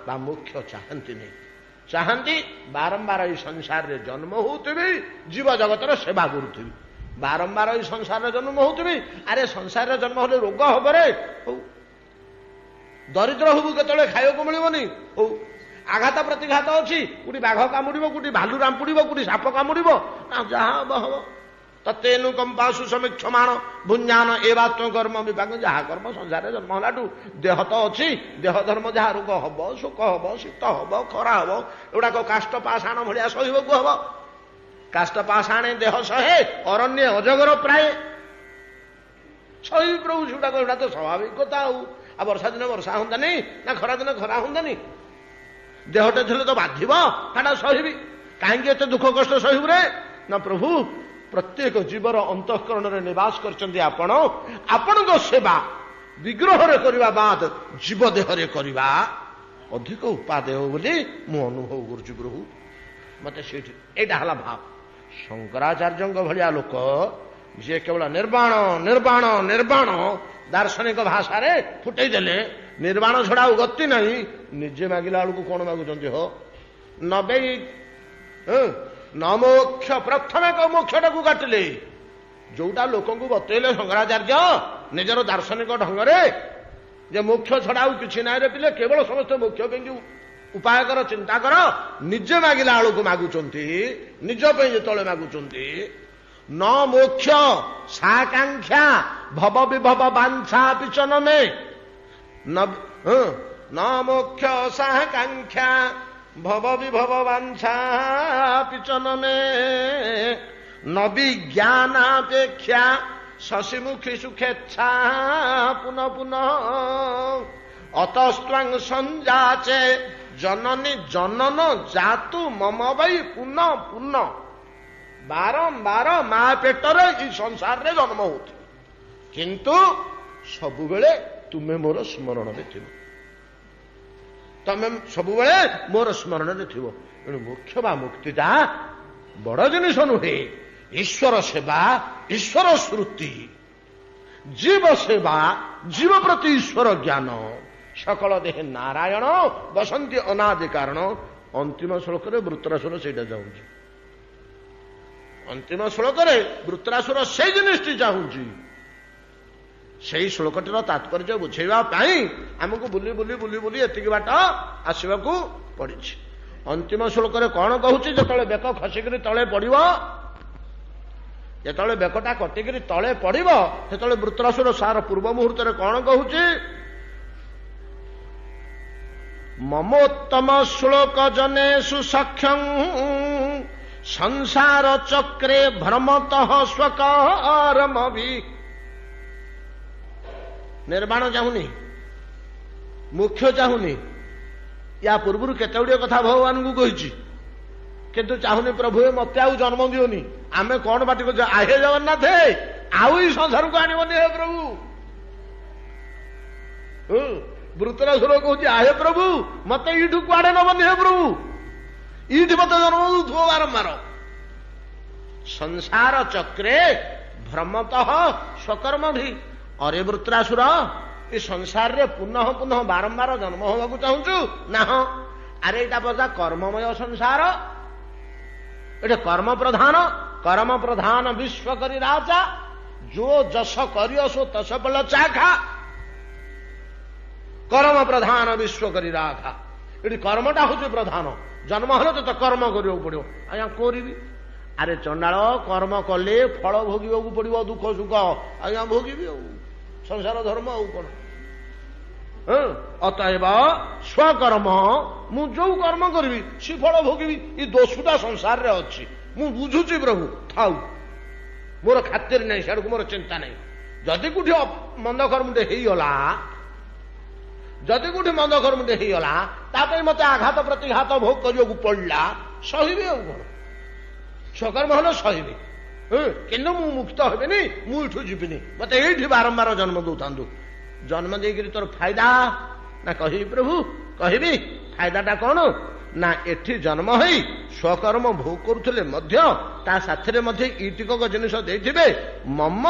ବା ମୋକ୍ଷ ଚାହାନ୍ତିନି। ଚାହାନ୍ତି ବାରମ୍ବାର ଏଇ ସଂସାରରେ ଜନ୍ମ ହଉଥିବି, ଜୀବ ଜଗତର ସେବା କରୁଥିବି। ବାରମ୍ବାର ଏଇ ସଂସାରରେ ଜନ୍ମ ହଉଥିବି। ଆରେ ସଂସାରରେ ଜନ୍ମ ହେଲେ ରୋଗ ହବରେ, ହଉ। ଦରିଦ୍ର ହବୁ, କେତେବେଳେ ଖାଇବାକୁ ମିଳିବନି, ହଉ। ଆଘାତ ପ୍ରତିଘାତ ଅଛି, କୋଉଠି ବାଘ କାମୁଡ଼ିବ, କୋଉଠି ଭାଲୁ ରାମ୍ପୁଡ଼ିବ, କୋଉଠି ସାପ କାମୁଡ଼ିବ, ନା ଯାହା ହବ ହବ। ତତେନୁ କମ୍ପାସୁ ସମୀକ୍ଷମାଣ ଭୁଞ୍ଜାନ ଏବାତ୍ମ କର୍ମ ବିଭାଗ। ଯାହା କର୍ମ ସଂସାରରେ ଜନ୍ମ ହେଲାଠୁ ଦେହ ତ ଅଛି, ଦେହ ଧର୍ମ ଯାହା, ରୋଗ ହବ, ଶୋକ ହବ, ଶୀତ ହବ, ଖରା ହବ, ଏଗୁଡ଼ାକ କାଷ୍ଠ ପାଷାଣ ଭଳିଆ ସହିବାକୁ ହବ। କାଷ୍ଠ ପାଷାଣେ ଦେହ ସହେ, ଅରଣ୍ୟ ଅଜଗର ପ୍ରାୟ ସହିବି ପ୍ରଭୁ ସେଗୁଡ଼ାକ। ଏଗୁଡ଼ା ତ ସ୍ୱାଭାବିକ କଥା। ଆଉ ଆଉ ବର୍ଷା ଦିନ ବର୍ଷା ହୁଅନ୍ତାନି ନା ଖରା ଦିନ ଖରା ହୁଅନ୍ତାନି? ଦେହଟା ଥିଲେ ତ ବାଧିବ, ସେଟା ସହିବି। କାହିଁକି ଏତେ ଦୁଃଖ କଷ୍ଟ ସହିବୁ ରେ? ନା ପ୍ରଭୁ, ପ୍ରତ୍ୟେକ ଜୀବର ଅନ୍ତଃକରଣରେ ନିବାସ କରିଛନ୍ତି ଆପଣ। ଆପଣଙ୍କ ସେବା ବିଗ୍ରହରେ କରିବା ବାଦ ଜୀବ ଦେହରେ କରିବା ଅଧିକ ଉପାଦେୟ ବୋଲି ମୁଁ ଅନୁଭବ କରୁଛି ପ୍ରଭୁ। ମତେ ସେଇଠି ଏଇଟା ହେଲା ଭାବ। ଶଙ୍କରାଚାର୍ଯ୍ୟଙ୍କ ଭଳିଆ ଲୋକ ଯିଏ କେବଳ ନିର୍ବାଣ ନିର୍ବାଣ ନିର୍ବାଣ ଦାର୍ଶନିକ ଭାଷାରେ ଫୁଟେଇ ଦେଲେ, ନିର୍ବାଣ ଛଡା ଆଉ ଗତି ନାହିଁ, ନିଜେ ମାଗିଲା ବେଳକୁ କଣ ମାଗୁଛନ୍ତି ହୋ? ନବେ ନ ମୋକ୍ଷ, ପ୍ରଥମେ ମୋକ୍ଷଟାକୁ କାଟିଲେ। ଯୋଉଟା ଲୋକଙ୍କୁ ବତେଇଲେ ଶଙ୍କରାଚାର୍ଯ୍ୟ ନିଜର ଦାର୍ଶନିକ ଢଙ୍ଗରେ ଯେ ମୋକ୍ଷ ଛଡା ଆଉ କିଛି ନାହିଁ ରେ ପିଲେ, କେବଳ ସମସ୍ତେ ମୋକ୍ଷ ପାଇଁ ଉପାୟ କର, ଚିନ୍ତା କର, ନିଜେ ମାଗିଲା ବେଳକୁ ମାଗୁଛନ୍ତି, ନିଜ ପାଇଁ ଯେତେବେଳେ ମାଗୁଛନ୍ତି, ନ ମୋକ୍ଷ ସାକାଂକ୍ଷା ଭବ ବିଭବ ବାଞ୍ଛା ପିଚନ ମେ, ନ ମୋକ୍ଷ ସାକାଂକ୍ଷା ଭବ ବିଭବ ବାଞ୍ଛା ପିଚନ ମେ, ନ ବିଜ୍ଞାନାପେକ୍ଷା ଶଶିମୁଖୀ ସୁଖେଚ୍ଛା ପୁନଃ ପୁନଃ, ଅତସ୍ତ୍ୱଂ ସଞ୍ଜାଚେ ଜନନୀ ଜନନ ଜାତୁ ମମ ବୈ ପୁନଃ ପୁନଃ। ବାରମ୍ବାର ମା ପେଟରେ ଏଇ ସଂସାରରେ ଜନ୍ମ ହଉଥିବ, କିନ୍ତୁ ସବୁବେଳେ ତୁମେ ମୋର ସ୍ମରଣରେ ଥିବ, ତମେ ସବୁବେଳେ ମୋର ସ୍ମରଣରେ ଥିବ। ତେଣୁ ମୋକ୍ଷ ବା ମୁକ୍ତିଟା ବଡ ଜିନିଷ ନୁହେଁ। ଈଶ୍ୱର ସେବା, ଈଶ୍ୱର ଶ୍ରୁତି, ଜୀବ ସେବା, ଜୀବ ପ୍ରତି ଈଶ୍ୱର ଜ୍ଞାନ, ସକଳ ଦେହେ ନାରାୟଣ ବସନ୍ତି ଅନାଦି କାରଣ। ଅନ୍ତିମ ଶ୍ଳୋକରେ ବୃତ୍ରାସୁର ସେଇଟା ଚାହୁଁଛି। ଅନ୍ତିମ ଶ୍ଳୋକରେ ବୃତ୍ରାସୁର ସେଇ ଜିନିଷଟି ଚାହୁଁଛି। ସେଇ ଶ୍ଳୋକଟିର ତାତ୍ପର୍ଯ୍ୟ ବୁଝେଇବା ପାଇଁ ଆମକୁ ବୁଲି ବୁଲି ବୁଲି ବୁଲି ଏତିକି ବାଟ ଆସିବାକୁ ପଡ଼ିଛି। ଅନ୍ତିମ ଶ୍ଳୋକରେ କଣ କହୁଛି? ଯେତେବେଳେ ବେକ ଖସିକିରି ତଳେ ପଡ଼ିବ, ଯେତେବେଳେ ବେକଟା କଟିକିରି ତଳେ ପଡ଼ିବ, ସେତେବେଳେ ବୃତ୍ରାସୁର ସାର ପୂର୍ବ ମୁହୂର୍ତ୍ତରେ କଣ କହୁଛି? ମମୋତ୍ତମ ଶ୍ଳୋକ ଜନେଷୁ ସଖ୍ୟଂ ସଂସାର ଚକ୍ରେ ଭ୍ରମତଃ ସ୍ୱକର୍ମ ବି। ନିର୍ବାଣ ଚାହୁଁନି, ମୁଖ୍ୟ ଚାହୁଁନି। ୟା ପୂର୍ବରୁ କେତେ ଗୁଡ଼ିଏ କଥା ଭଗବାନଙ୍କୁ କହିଛି, କିନ୍ତୁ ଚାହୁଁନି। ପ୍ରଭୁ ମତେ ଆଉ ଜନ୍ମ ଦିଅନି। ଆମେ କଣ ପାଟି କରୁଛୁ? ଆହେ ଜଗନ୍ନାଥ, ଆଉ ଏଇ ସଂସାରକୁ ଆଣିବନି ହେ ପ୍ରଭୁ। ବୃତରାସୁର କହୁଛି, ଆହେ ପ୍ରଭୁ, ମତେ ଏଇଠୁ କୁଆଡେ ନବନି ହେ ପ୍ରଭୁ, ଏଇଠି ମତେ ଜନ୍ମ ଦଉଥିବ ବାରମ୍ବାର। ସଂସାର ଚକ୍ରେ ଭ୍ରମତଃ ସ୍ୱକର୍ମ ଭି। ଅରେ ବୃତ୍ରାସୁର, ଏ ସଂସାରରେ ପୁନଃ ପୁନଃ ବାରମ୍ବାର ଜନ୍ମ ହେବାକୁ ଚାହୁଁଛୁ ନା? ହଁ। ଆରେ ଏଇଟା ବଜା କର୍ମମୟ ସଂସାର, ଏଠି କର୍ମ ପ୍ରଧାନ। କର୍ମ ପ୍ରଧାନ ବିଶ୍ୱ କରି ରାଜା, ଯୋ ଯଶ କରିଅ ସୋ ତସ ବଲ ଚାଖା। କର୍ମ ପ୍ରଧାନ ବିଶ୍ୱ କରି ରାଖା। ଏଠି କର୍ମଟା ହଉଛି ପ୍ରଧାନ। ଜନ୍ମ ହେଲେ ତ କର୍ମ କରିବାକୁ ପଡିବ। ଆଜ୍ଞା କରିବି। ଆରେ ଚଣ୍ଡାଳ, କର୍ମ କଲେ ଫଳ ଭୋଗିବାକୁ ପଡିବ, ଦୁଃଖ ସୁଖ। ଆଜ୍ଞା ଭୋଗିବି, ଆଉ ସଂସାର ଧର୍ମ ଆଉ କଣ? ଅତଏବ ସ୍ୱକର୍ମ, ମୁଁ ଯୋଉ କର୍ମ କରିବି ସେ ଫଳ ଭୋଗିବି। ଏ ଦୋଷଟା ସଂସାରରେ ଅଛି, ମୁଁ ବୁଝୁଛି ପ୍ରଭୁ, ଥାଉ, ମୋର ଖାତିର ନାହିଁ, ସିଆଡ଼କୁ ମୋର ଚିନ୍ତା ନାହିଁ। ଯଦି କୋଉଠି ମନ୍ଦ କର୍ମଟେ ହେଇଗଲା, ଯଦି କୋଉଠି ମନ୍ଦ କର୍ମଟେ ହେଇଗଲା, ତା ପାଇଁ ମତେ ଆଘାତ ପ୍ରତିଘାତ ଭୋଗ କରିବାକୁ ପଡିଲା, ସହିବି, ଆଉ କଣ? ସ୍ୱକର୍ମ ହେଲେ ସହିବି, କିନ୍ତୁ ମୁଁ ମୁକ୍ତ ହେବିନି, ମୁଁ ଏଠୁ ଯିବିନି, ମତେ ଏଇଠି ବାରମ୍ବାର ଜନ୍ମ ଦଉଥାନ୍ତୁ। ଜନ୍ମ ଦେଇକିରି ତୋର ଫାଇଦା? ନା କହିବି ପ୍ରଭୁ, କହିବି ଫାଇଦାଟା କଣ? ନା ଏଠି ଜନ୍ମ ହେଇ ସ୍ୱକର୍ମ ଭୋଗ କରୁଥିଲେ ମଧ୍ୟ ତା ସାଥିରେ ମଧ୍ୟ ଏଇ ଟିକକ ଜିନିଷ ଦେଇଥିବେ, ମମ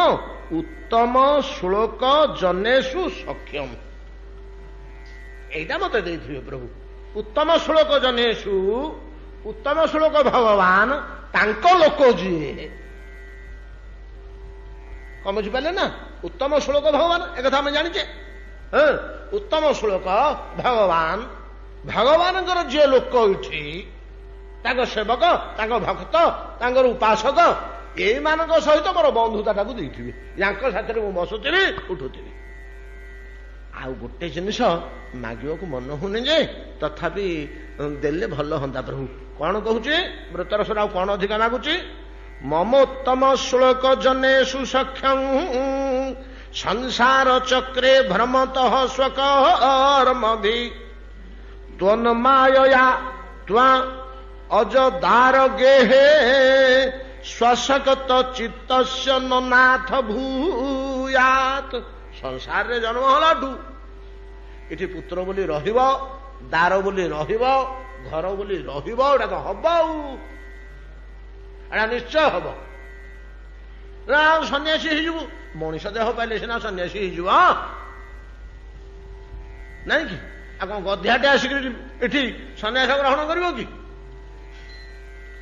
ଉତ୍ତମ ଶ୍ଳୋକ ଜନେଷୁ ସକ୍ଷମ। ଏଇଟା ମତେ ଦେଇଥିବେ ପ୍ରଭୁ। ଉତ୍ତମ ଶ୍ଳୋକ ଜନେଷୁ, ଉତ୍ତମ ଶ୍ଳୋକ ଭଗବାନ ତାଙ୍କ ଲୋକ ଯିଏ, କଣ ବୁଝିପାରିଲେ ନା? ଉତ୍ତମ ଶ୍ଳୋକ ଭଗବାନ, ଏକଥା ଆମେ ଜାଣିଛେ। ହଁ, ଉତ୍ତମ ଶ୍ଳୋକ ଭଗବାନ, ଭଗବାନଙ୍କର ଯିଏ ଲୋକ ଏଠି, ତାଙ୍କ ସେବକ, ତାଙ୍କ ଭକ୍ତ, ତାଙ୍କର ଉପାସକ, ଏଇମାନଙ୍କ ସହିତ ମୋର ବନ୍ଧୁତାଟାକୁ ଦେଇଥିବେ। ୟାଙ୍କ ସାଥିରେ ମୁଁ ବସୁଥିବି, ଉଠୁଥିବି। ଆଉ ଗୋଟେ ଜିନିଷ ମାଗିବାକୁ ମନ ହଉନି ଯେ, ତଥାପି ଦେଲେ ଭଲ ହନ୍ତା ପ୍ରଭୁ। କଣ କହୁଛି ବ୍ରତରସର? ଆଉ କଣ ଅଧିକା ମାଗୁଛି? ମମୋତ୍ତମ ଶ୍ଳୋକ ଜନେଷୁ ସକ୍ଷಂ ସଂସାର ଚକ୍ରେ ଭ୍ରମତଃ ସ୍ୱକର୍ମ ଭି ତ୍ୱନ୍ମାୟୟା ତ୍ୱା ଅଜଦାର ଗେହେ ସ୍ୱସକତ ଚିତ୍ତସ୍ୟ ନାଥ ଭୂୟାତ। ସଂସାରରେ ଜନ୍ମ ହେଲାଠୁ ଏଠି ପୁତ୍ର ବୋଲି ରହିବ, ଦାର ବୋଲି ରହିବ, ଘର ବୋଲି ରହିବ, ଏଇଟା ତ ହବ, ଆଉ ଏଟା ନିଶ୍ଚୟ ହବ। ନା ଆଉ ସନ୍ନ୍ୟାସୀ ହେଇଯିବୁ? ମଣିଷ ଦେହ ପାଇଲେ ସିନା ସନ୍ନ୍ୟାସୀ ହେଇଯିବ, ନାଇଁ କି? ଆଉ କଣ ଗଧିଆଟେ ଆସିକିରି ଏଠି ସନ୍ନ୍ୟାସ ଗ୍ରହଣ କରିବ କି?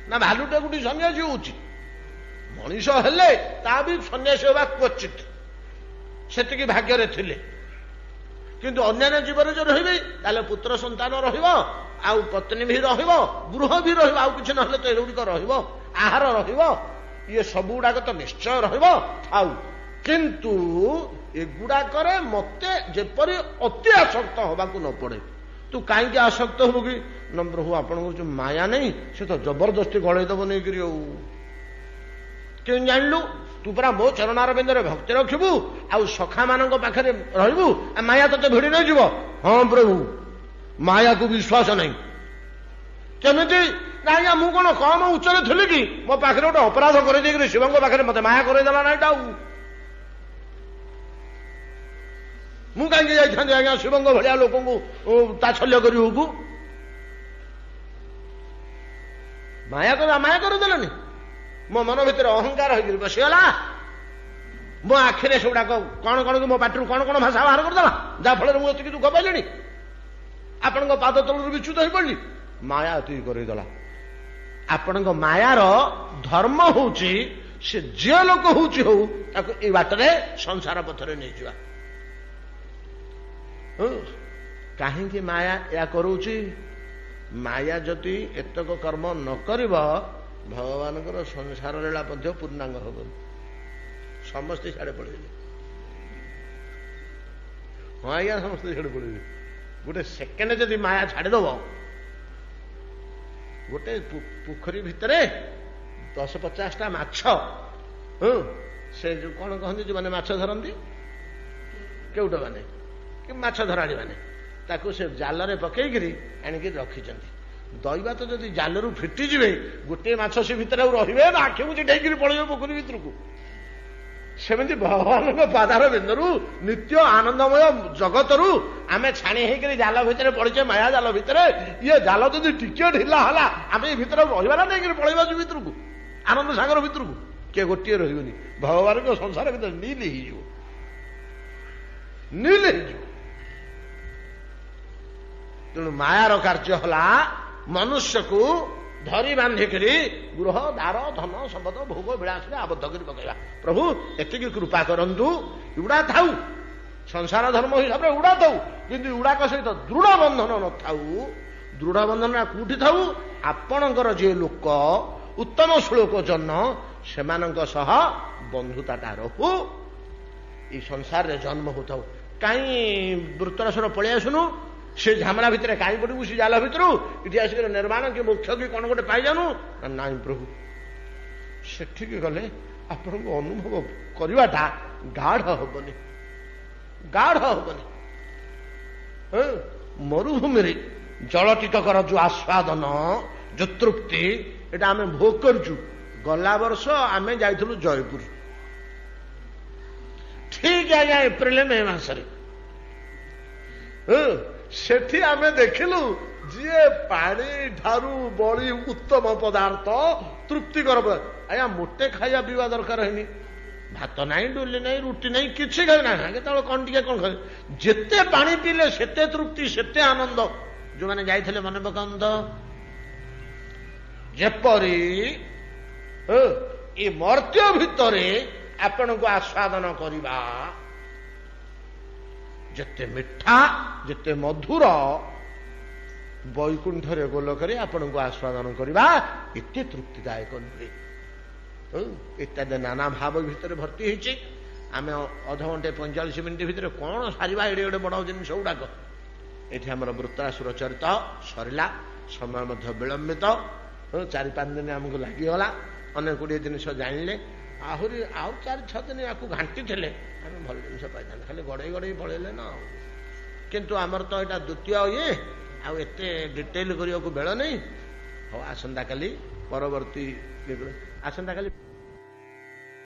ନା ଭାଲୁଟେ ଗୋଟି ସନ୍ନ୍ୟାସୀ ହଉଛି? ମଣିଷ ହେଲେ ତା ବି ସନ୍ନ୍ୟାସୀ ହେବା କ୍ୱଚିତ, ସେତିକି ଭାଗ୍ୟରେ ଥିଲେ। କିନ୍ତୁ ଅନ୍ୟାନ୍ୟ ଜୀବନରେ ଯୋଉ ରହିବେ, ତାହେଲେ ପୁତ୍ର ସନ୍ତାନ ରହିବ, ଆଉ ପତ୍ନୀ ବି ରହିବ, ଗୃହ ବି ରହିବ, ଆଉ କିଛି ନହେଲେ ତ ଏଗୁଡ଼ିକ ରହିବ, ଆହାର ରହିବ, ଇଏ ସବୁ ଗୁଡାକ ତ ନିଶ୍ଚୟ ରହିବ, ଥାଉ। କିନ୍ତୁ ଏଗୁଡାକରେ ମତେ ଯେପରି ଅତି ଆସକ୍ତ ହବାକୁ ନ ପଡେ। ତୁ କାହିଁକି ଆସକ୍ତ ହବୁ କି? ନା ପ୍ରଭୁ, ଆପଣଙ୍କର ଯୋଉ ମାୟା ନାହିଁ, ସେ ତ ଜବରଦସ୍ତି ଗଳେଇ ଦବ ନେଇକରି। ଆଉ କେମିତି ଜାଣିଲୁ? ତୁ ପରା ମୋ ଚରଣାର ବିନ୍ଦରେ ଭକ୍ତି ରଖିବୁ ଆଉ ସଖାମାନଙ୍କ ପାଖରେ ରହିବୁ, ମାୟା ତତେ ଭିଡ଼ି ନେଇଯିବ। ହଁ ପ୍ରଭୁ, ମାୟାକୁ ବିଶ୍ୱାସ ନାହିଁ। କେମିତି? ନା ଆଜ୍ଞା, ମୁଁ କଣ କମ ଉଚ୍ଚରେ ଥିଲି କି? ମୋ ପାଖରେ ଗୋଟେ ଅପରାଧ କରିଦେଇକିରି ଶିବଙ୍କ ପାଖରେ ମତେ ମାୟା କରେଇଦେଲା। ନାଇଁ, ଆଉ ମୁଁ କାହିଁକି ଯାଇଥାନ୍ତି ଆଜ୍ଞା ଶିବଙ୍କ ଭଳିଆ ଲୋକଙ୍କୁ ତାଛଲ୍ୟ କରିବାକୁ? ମାୟା ମାୟା କରିଦେଲେନି, ମୋ ମନ ଭିତରେ ଅହଙ୍କାର ହେଇକିରି ବସିଗଲା, ମୋ ଆଖିରେ ସେଗୁଡାକ କଣ କଣ କି ମୋ ପାଟିରୁ କଣ କଣ ଭାଷା ବାହାର କରିଦେଲା, ଯାହା ଫଳରେ ମୁଁ ଏତିକି ଦୁଃଖ ପାଇଲିଣି, ଆପଣଙ୍କ ପାଦ ତଳରୁ ବିଚ୍ୟୁତ ହେଇପଡିଲି। ମାୟା ଏତିକି କରେଇଦେଲା। ଆପଣଙ୍କ ମାୟାର ଧର୍ମ ହଉଛି, ସେ ଯିଏ ଲୋକ ହଉଛି ହଉ, ତାକୁ ଏଇ ବାଟରେ ସଂସାର ପଥରେ ନେଇଯିବା। କାହିଁକି ମାୟା ଏହା କରୁଛି? ମାୟା ଯଦି ଏତକ କର୍ମ ନ କରିବ, ଭଗବାନଙ୍କର ସଂସାର ଲୀଳା ମଧ୍ୟ ପୂର୍ଣ୍ଣାଙ୍ଗ ହବନି। ସମସ୍ତେ ସିଆଡ଼େ ପଳେଇବେ। ହଁ ଆଜ୍ଞା, ସମସ୍ତେ ସିଆଡ଼େ ପଳେଇବେ। ଗୋଟେ ସେକେଣ୍ଡ ଯଦି ମାୟା ଛାଡ଼ିଦବ, ଗୋଟେ ପୋଖରୀ ଭିତରେ ଦଶ ପଚାଶଟା ମାଛ, ହଁ, ସେ ଯୋଉ କଣ କହନ୍ତି ଯୋଉମାନେ ମାଛ ଧରନ୍ତି, କେଉଟ ମାନେ କି ମାଛ ଧରାଳି ମାନେ, ତାକୁ ସେ ଜାଲରେ ପକେଇକିରି ଆଣିକି ରଖିଛନ୍ତି। ଦୈବାତ ଯଦି ଜାଲରୁ ଫିଟିଯିବେ, ଗୋଟିଏ ମାଛ ସେ ଭିତରେ ଆଉ ରହିବେ ନା ଆଖି ବୁଜି ଡେଇକିରି ପଳେଇବେ ପୋଖରୀ ଭିତରକୁ? ସେମିତି ଭଗବାନଙ୍କ ପାଦାର ବିନ୍ଦୁରୁ, ନିତ୍ୟ ଆନନ୍ଦମୟ ଜଗତରୁ ଆମେ ଛାଣି ହେଇକିରି ଜାଲ ଭିତରେ ପଡ଼ିଛେ, ମାୟା ଜାଲ ଭିତରେ। ଇଏ ଜାଲ ଯଦି ଟିକିଏ ଢିଲା ହେଲା, ଆମେ ଏ ଭିତରେ ରହିବା ନା ନେଇକିରି ପଳେଇବା ସେ ଭିତରକୁ, ଆନନ୍ଦ ସାଗର ଭିତରକୁ? କିଏ ଗୋଟିଏ ରହିବନି। ଭଗବାନଙ୍କ ସଂସାର ଭିତରେ ନୀଲ ହେଇଯିବ, ନୀଲ ହେଇଯିବ। ତେଣୁ ମାୟାର କାର୍ଯ୍ୟ ହେଲା ମନୁଷ୍ୟକୁ ଧରି ବାନ୍ଧିକରି ଗୃହ ଦାର ଧନ ସମ୍ପଦ ଭୋଗ ବିଳାସରେ ଆବଦ୍ଧ କରି ପକେଇବା। ପ୍ରଭୁ ଏତିକି କୃପା କରନ୍ତୁ, ଏଗୁଡ଼ା ଥାଉ, ସଂସାର ଧର୍ମ ହିସାବରେ ଏଗୁଡ଼ା ଥାଉ, କିନ୍ତୁ ଏଗୁଡ଼ାକ ସହିତ ଦୃଢ଼ ବନ୍ଧନ ନଥାଉ। ଦୃଢ଼ ବନ୍ଧନ କୋଉଠି ଥାଉ? ଆପଣଙ୍କର ଯିଏ ଲୋକ ଉତ୍ତମ ଶ୍ଳୋକ ଜନ, ସେମାନଙ୍କ ସହ ବନ୍ଧୁତାଟା ରହୁ, ଏଇ ସଂସାରରେ ଜନ୍ମ ହଉଥାଉ। କାହିଁ ବୃତ୍ତରସର ପଳେଇ ଆସୁନୁ, ସେ ଝାମେଲା ଭିତରେ କାହିଁ ପଡ଼ିବୁ, ସେ ଜାଲ ଭିତରୁ ଏଠି ଆସିକରି ନିର୍ମାଣ କି ମୋକ୍ଷ କି କଣ ଗୋଟେ ପାଇଯାନୁ। ନାଇଁ ପ୍ରଭୁ, ସେଠିକି ଗଲେ ଆପଣଙ୍କୁ ଅନୁଭବ କରିବାଟା ଗାଢ ହବନି, ଗାଢ ହବନି। ମରୁଭୂମିରେ ଜଳ ଟିକକର ଯୋଉ ଆସ୍ୱାଦନ, ଯୋଉ ତୃପ୍ତି, ଏଇଟା ଆମେ ଭୋଗ କରୁଛୁ। ଗଲା ବର୍ଷ ଆମେ ଯାଇଥିଲୁ ଜୟପୁର, ଠିକ ଆଜ୍ଞା ଏପ୍ରିଲ ମେ ମାସରେ। ସେଠି ଆମେ ଦେଖିଲୁ ଯିଏ ପାଣି ଠାରୁ ବଳି ଉତ୍ତମ ପଦାର୍ଥ, ତୃପ୍ତିକର ପଦାର୍ଥ। ଆଜ୍ଞା, ମୋଟେ ଖାଇବା ପିଇବା ଦରକାର ହେଇନି। ଭାତ ନାହିଁ, ଡୁଲି ନାହିଁ, ରୁଟି ନାହିଁ, କିଛି ଖାଇ ନାହିଁ। କେତେବେଳେ କଣ ଟିକେ କଣ ଖାଇ, ଯେତେ ପାଣି ପିଇଲେ ସେତେ ତୃପ୍ତି, ସେତେ ଆନନ୍ଦ। ଯୋଉମାନେ ଯାଇଥିଲେ ମନେ ପକାନ୍ତୁ, ଯେପରି ଏ ମର୍ତ୍ତ୍ୟ ଭିତରେ ଆପଣଙ୍କୁ ଆସ୍ୱାଦନ କରିବା ଯେତେ ମିଠା, ଯେତେ ମଧୁର, ବୈକୁଣ୍ଠରେ ଗୋଲକରେ ଆପଣଙ୍କୁ ଆସ୍ୱାଦନ କରିବା ଏତେ ତୃପ୍ତିଦାୟକ ନୁହେଁ। ଇତ୍ୟାଦି ନାନା ଭାବ ଭିତରେ ଭର୍ତ୍ତି ହେଇଛି। ଆମେ ଅଧଘଣ୍ଟେ ପଇଁଚାଳିଶ ମିନିଟ୍ ଭିତରେ କଣ ସାରିବା ଏଡ଼େ ଏଡ଼େ ବଡ଼ ଜିନିଷ ଗୁଡ଼ାକ? ଏଠି ଆମର ବୃତ୍ରାସୁର ଚରିତ ସରିଲା। ସମୟ ମଧ୍ୟ ବିଳମ୍ବିତ, ଚାରି ପାଞ୍ଚ ଦିନ ଆମକୁ ଲାଗିଗଲା। ଅନେକ ଗୁଡ଼ିଏ ଜିନିଷ ଜାଣିଲେ। ଆହୁରି ଆଉ ଚାରି ଛଅ ଦିନ ୟାକୁ ଘାଣ୍ଟିଥିଲେ ଆମେ ଭଲ ଜିନିଷ ପାଇଥାନ୍ତେ। ଖାଲି ଗଡ଼େଇ ଗଡ଼େଇ ପଳେଇଲେ ନା ଆଉ। କିନ୍ତୁ ଆମର ତ ଏଇଟା ଦ୍ୱିତୀୟ ଇଏ, ଆଉ ଏତେ ଡିଟେଲ କରିବାକୁ ବେଳ ନେଇ। ହଉ, ଆସନ୍ତାକାଲି ପରବର୍ତ୍ତୀ, ଆସନ୍ତାକାଲି।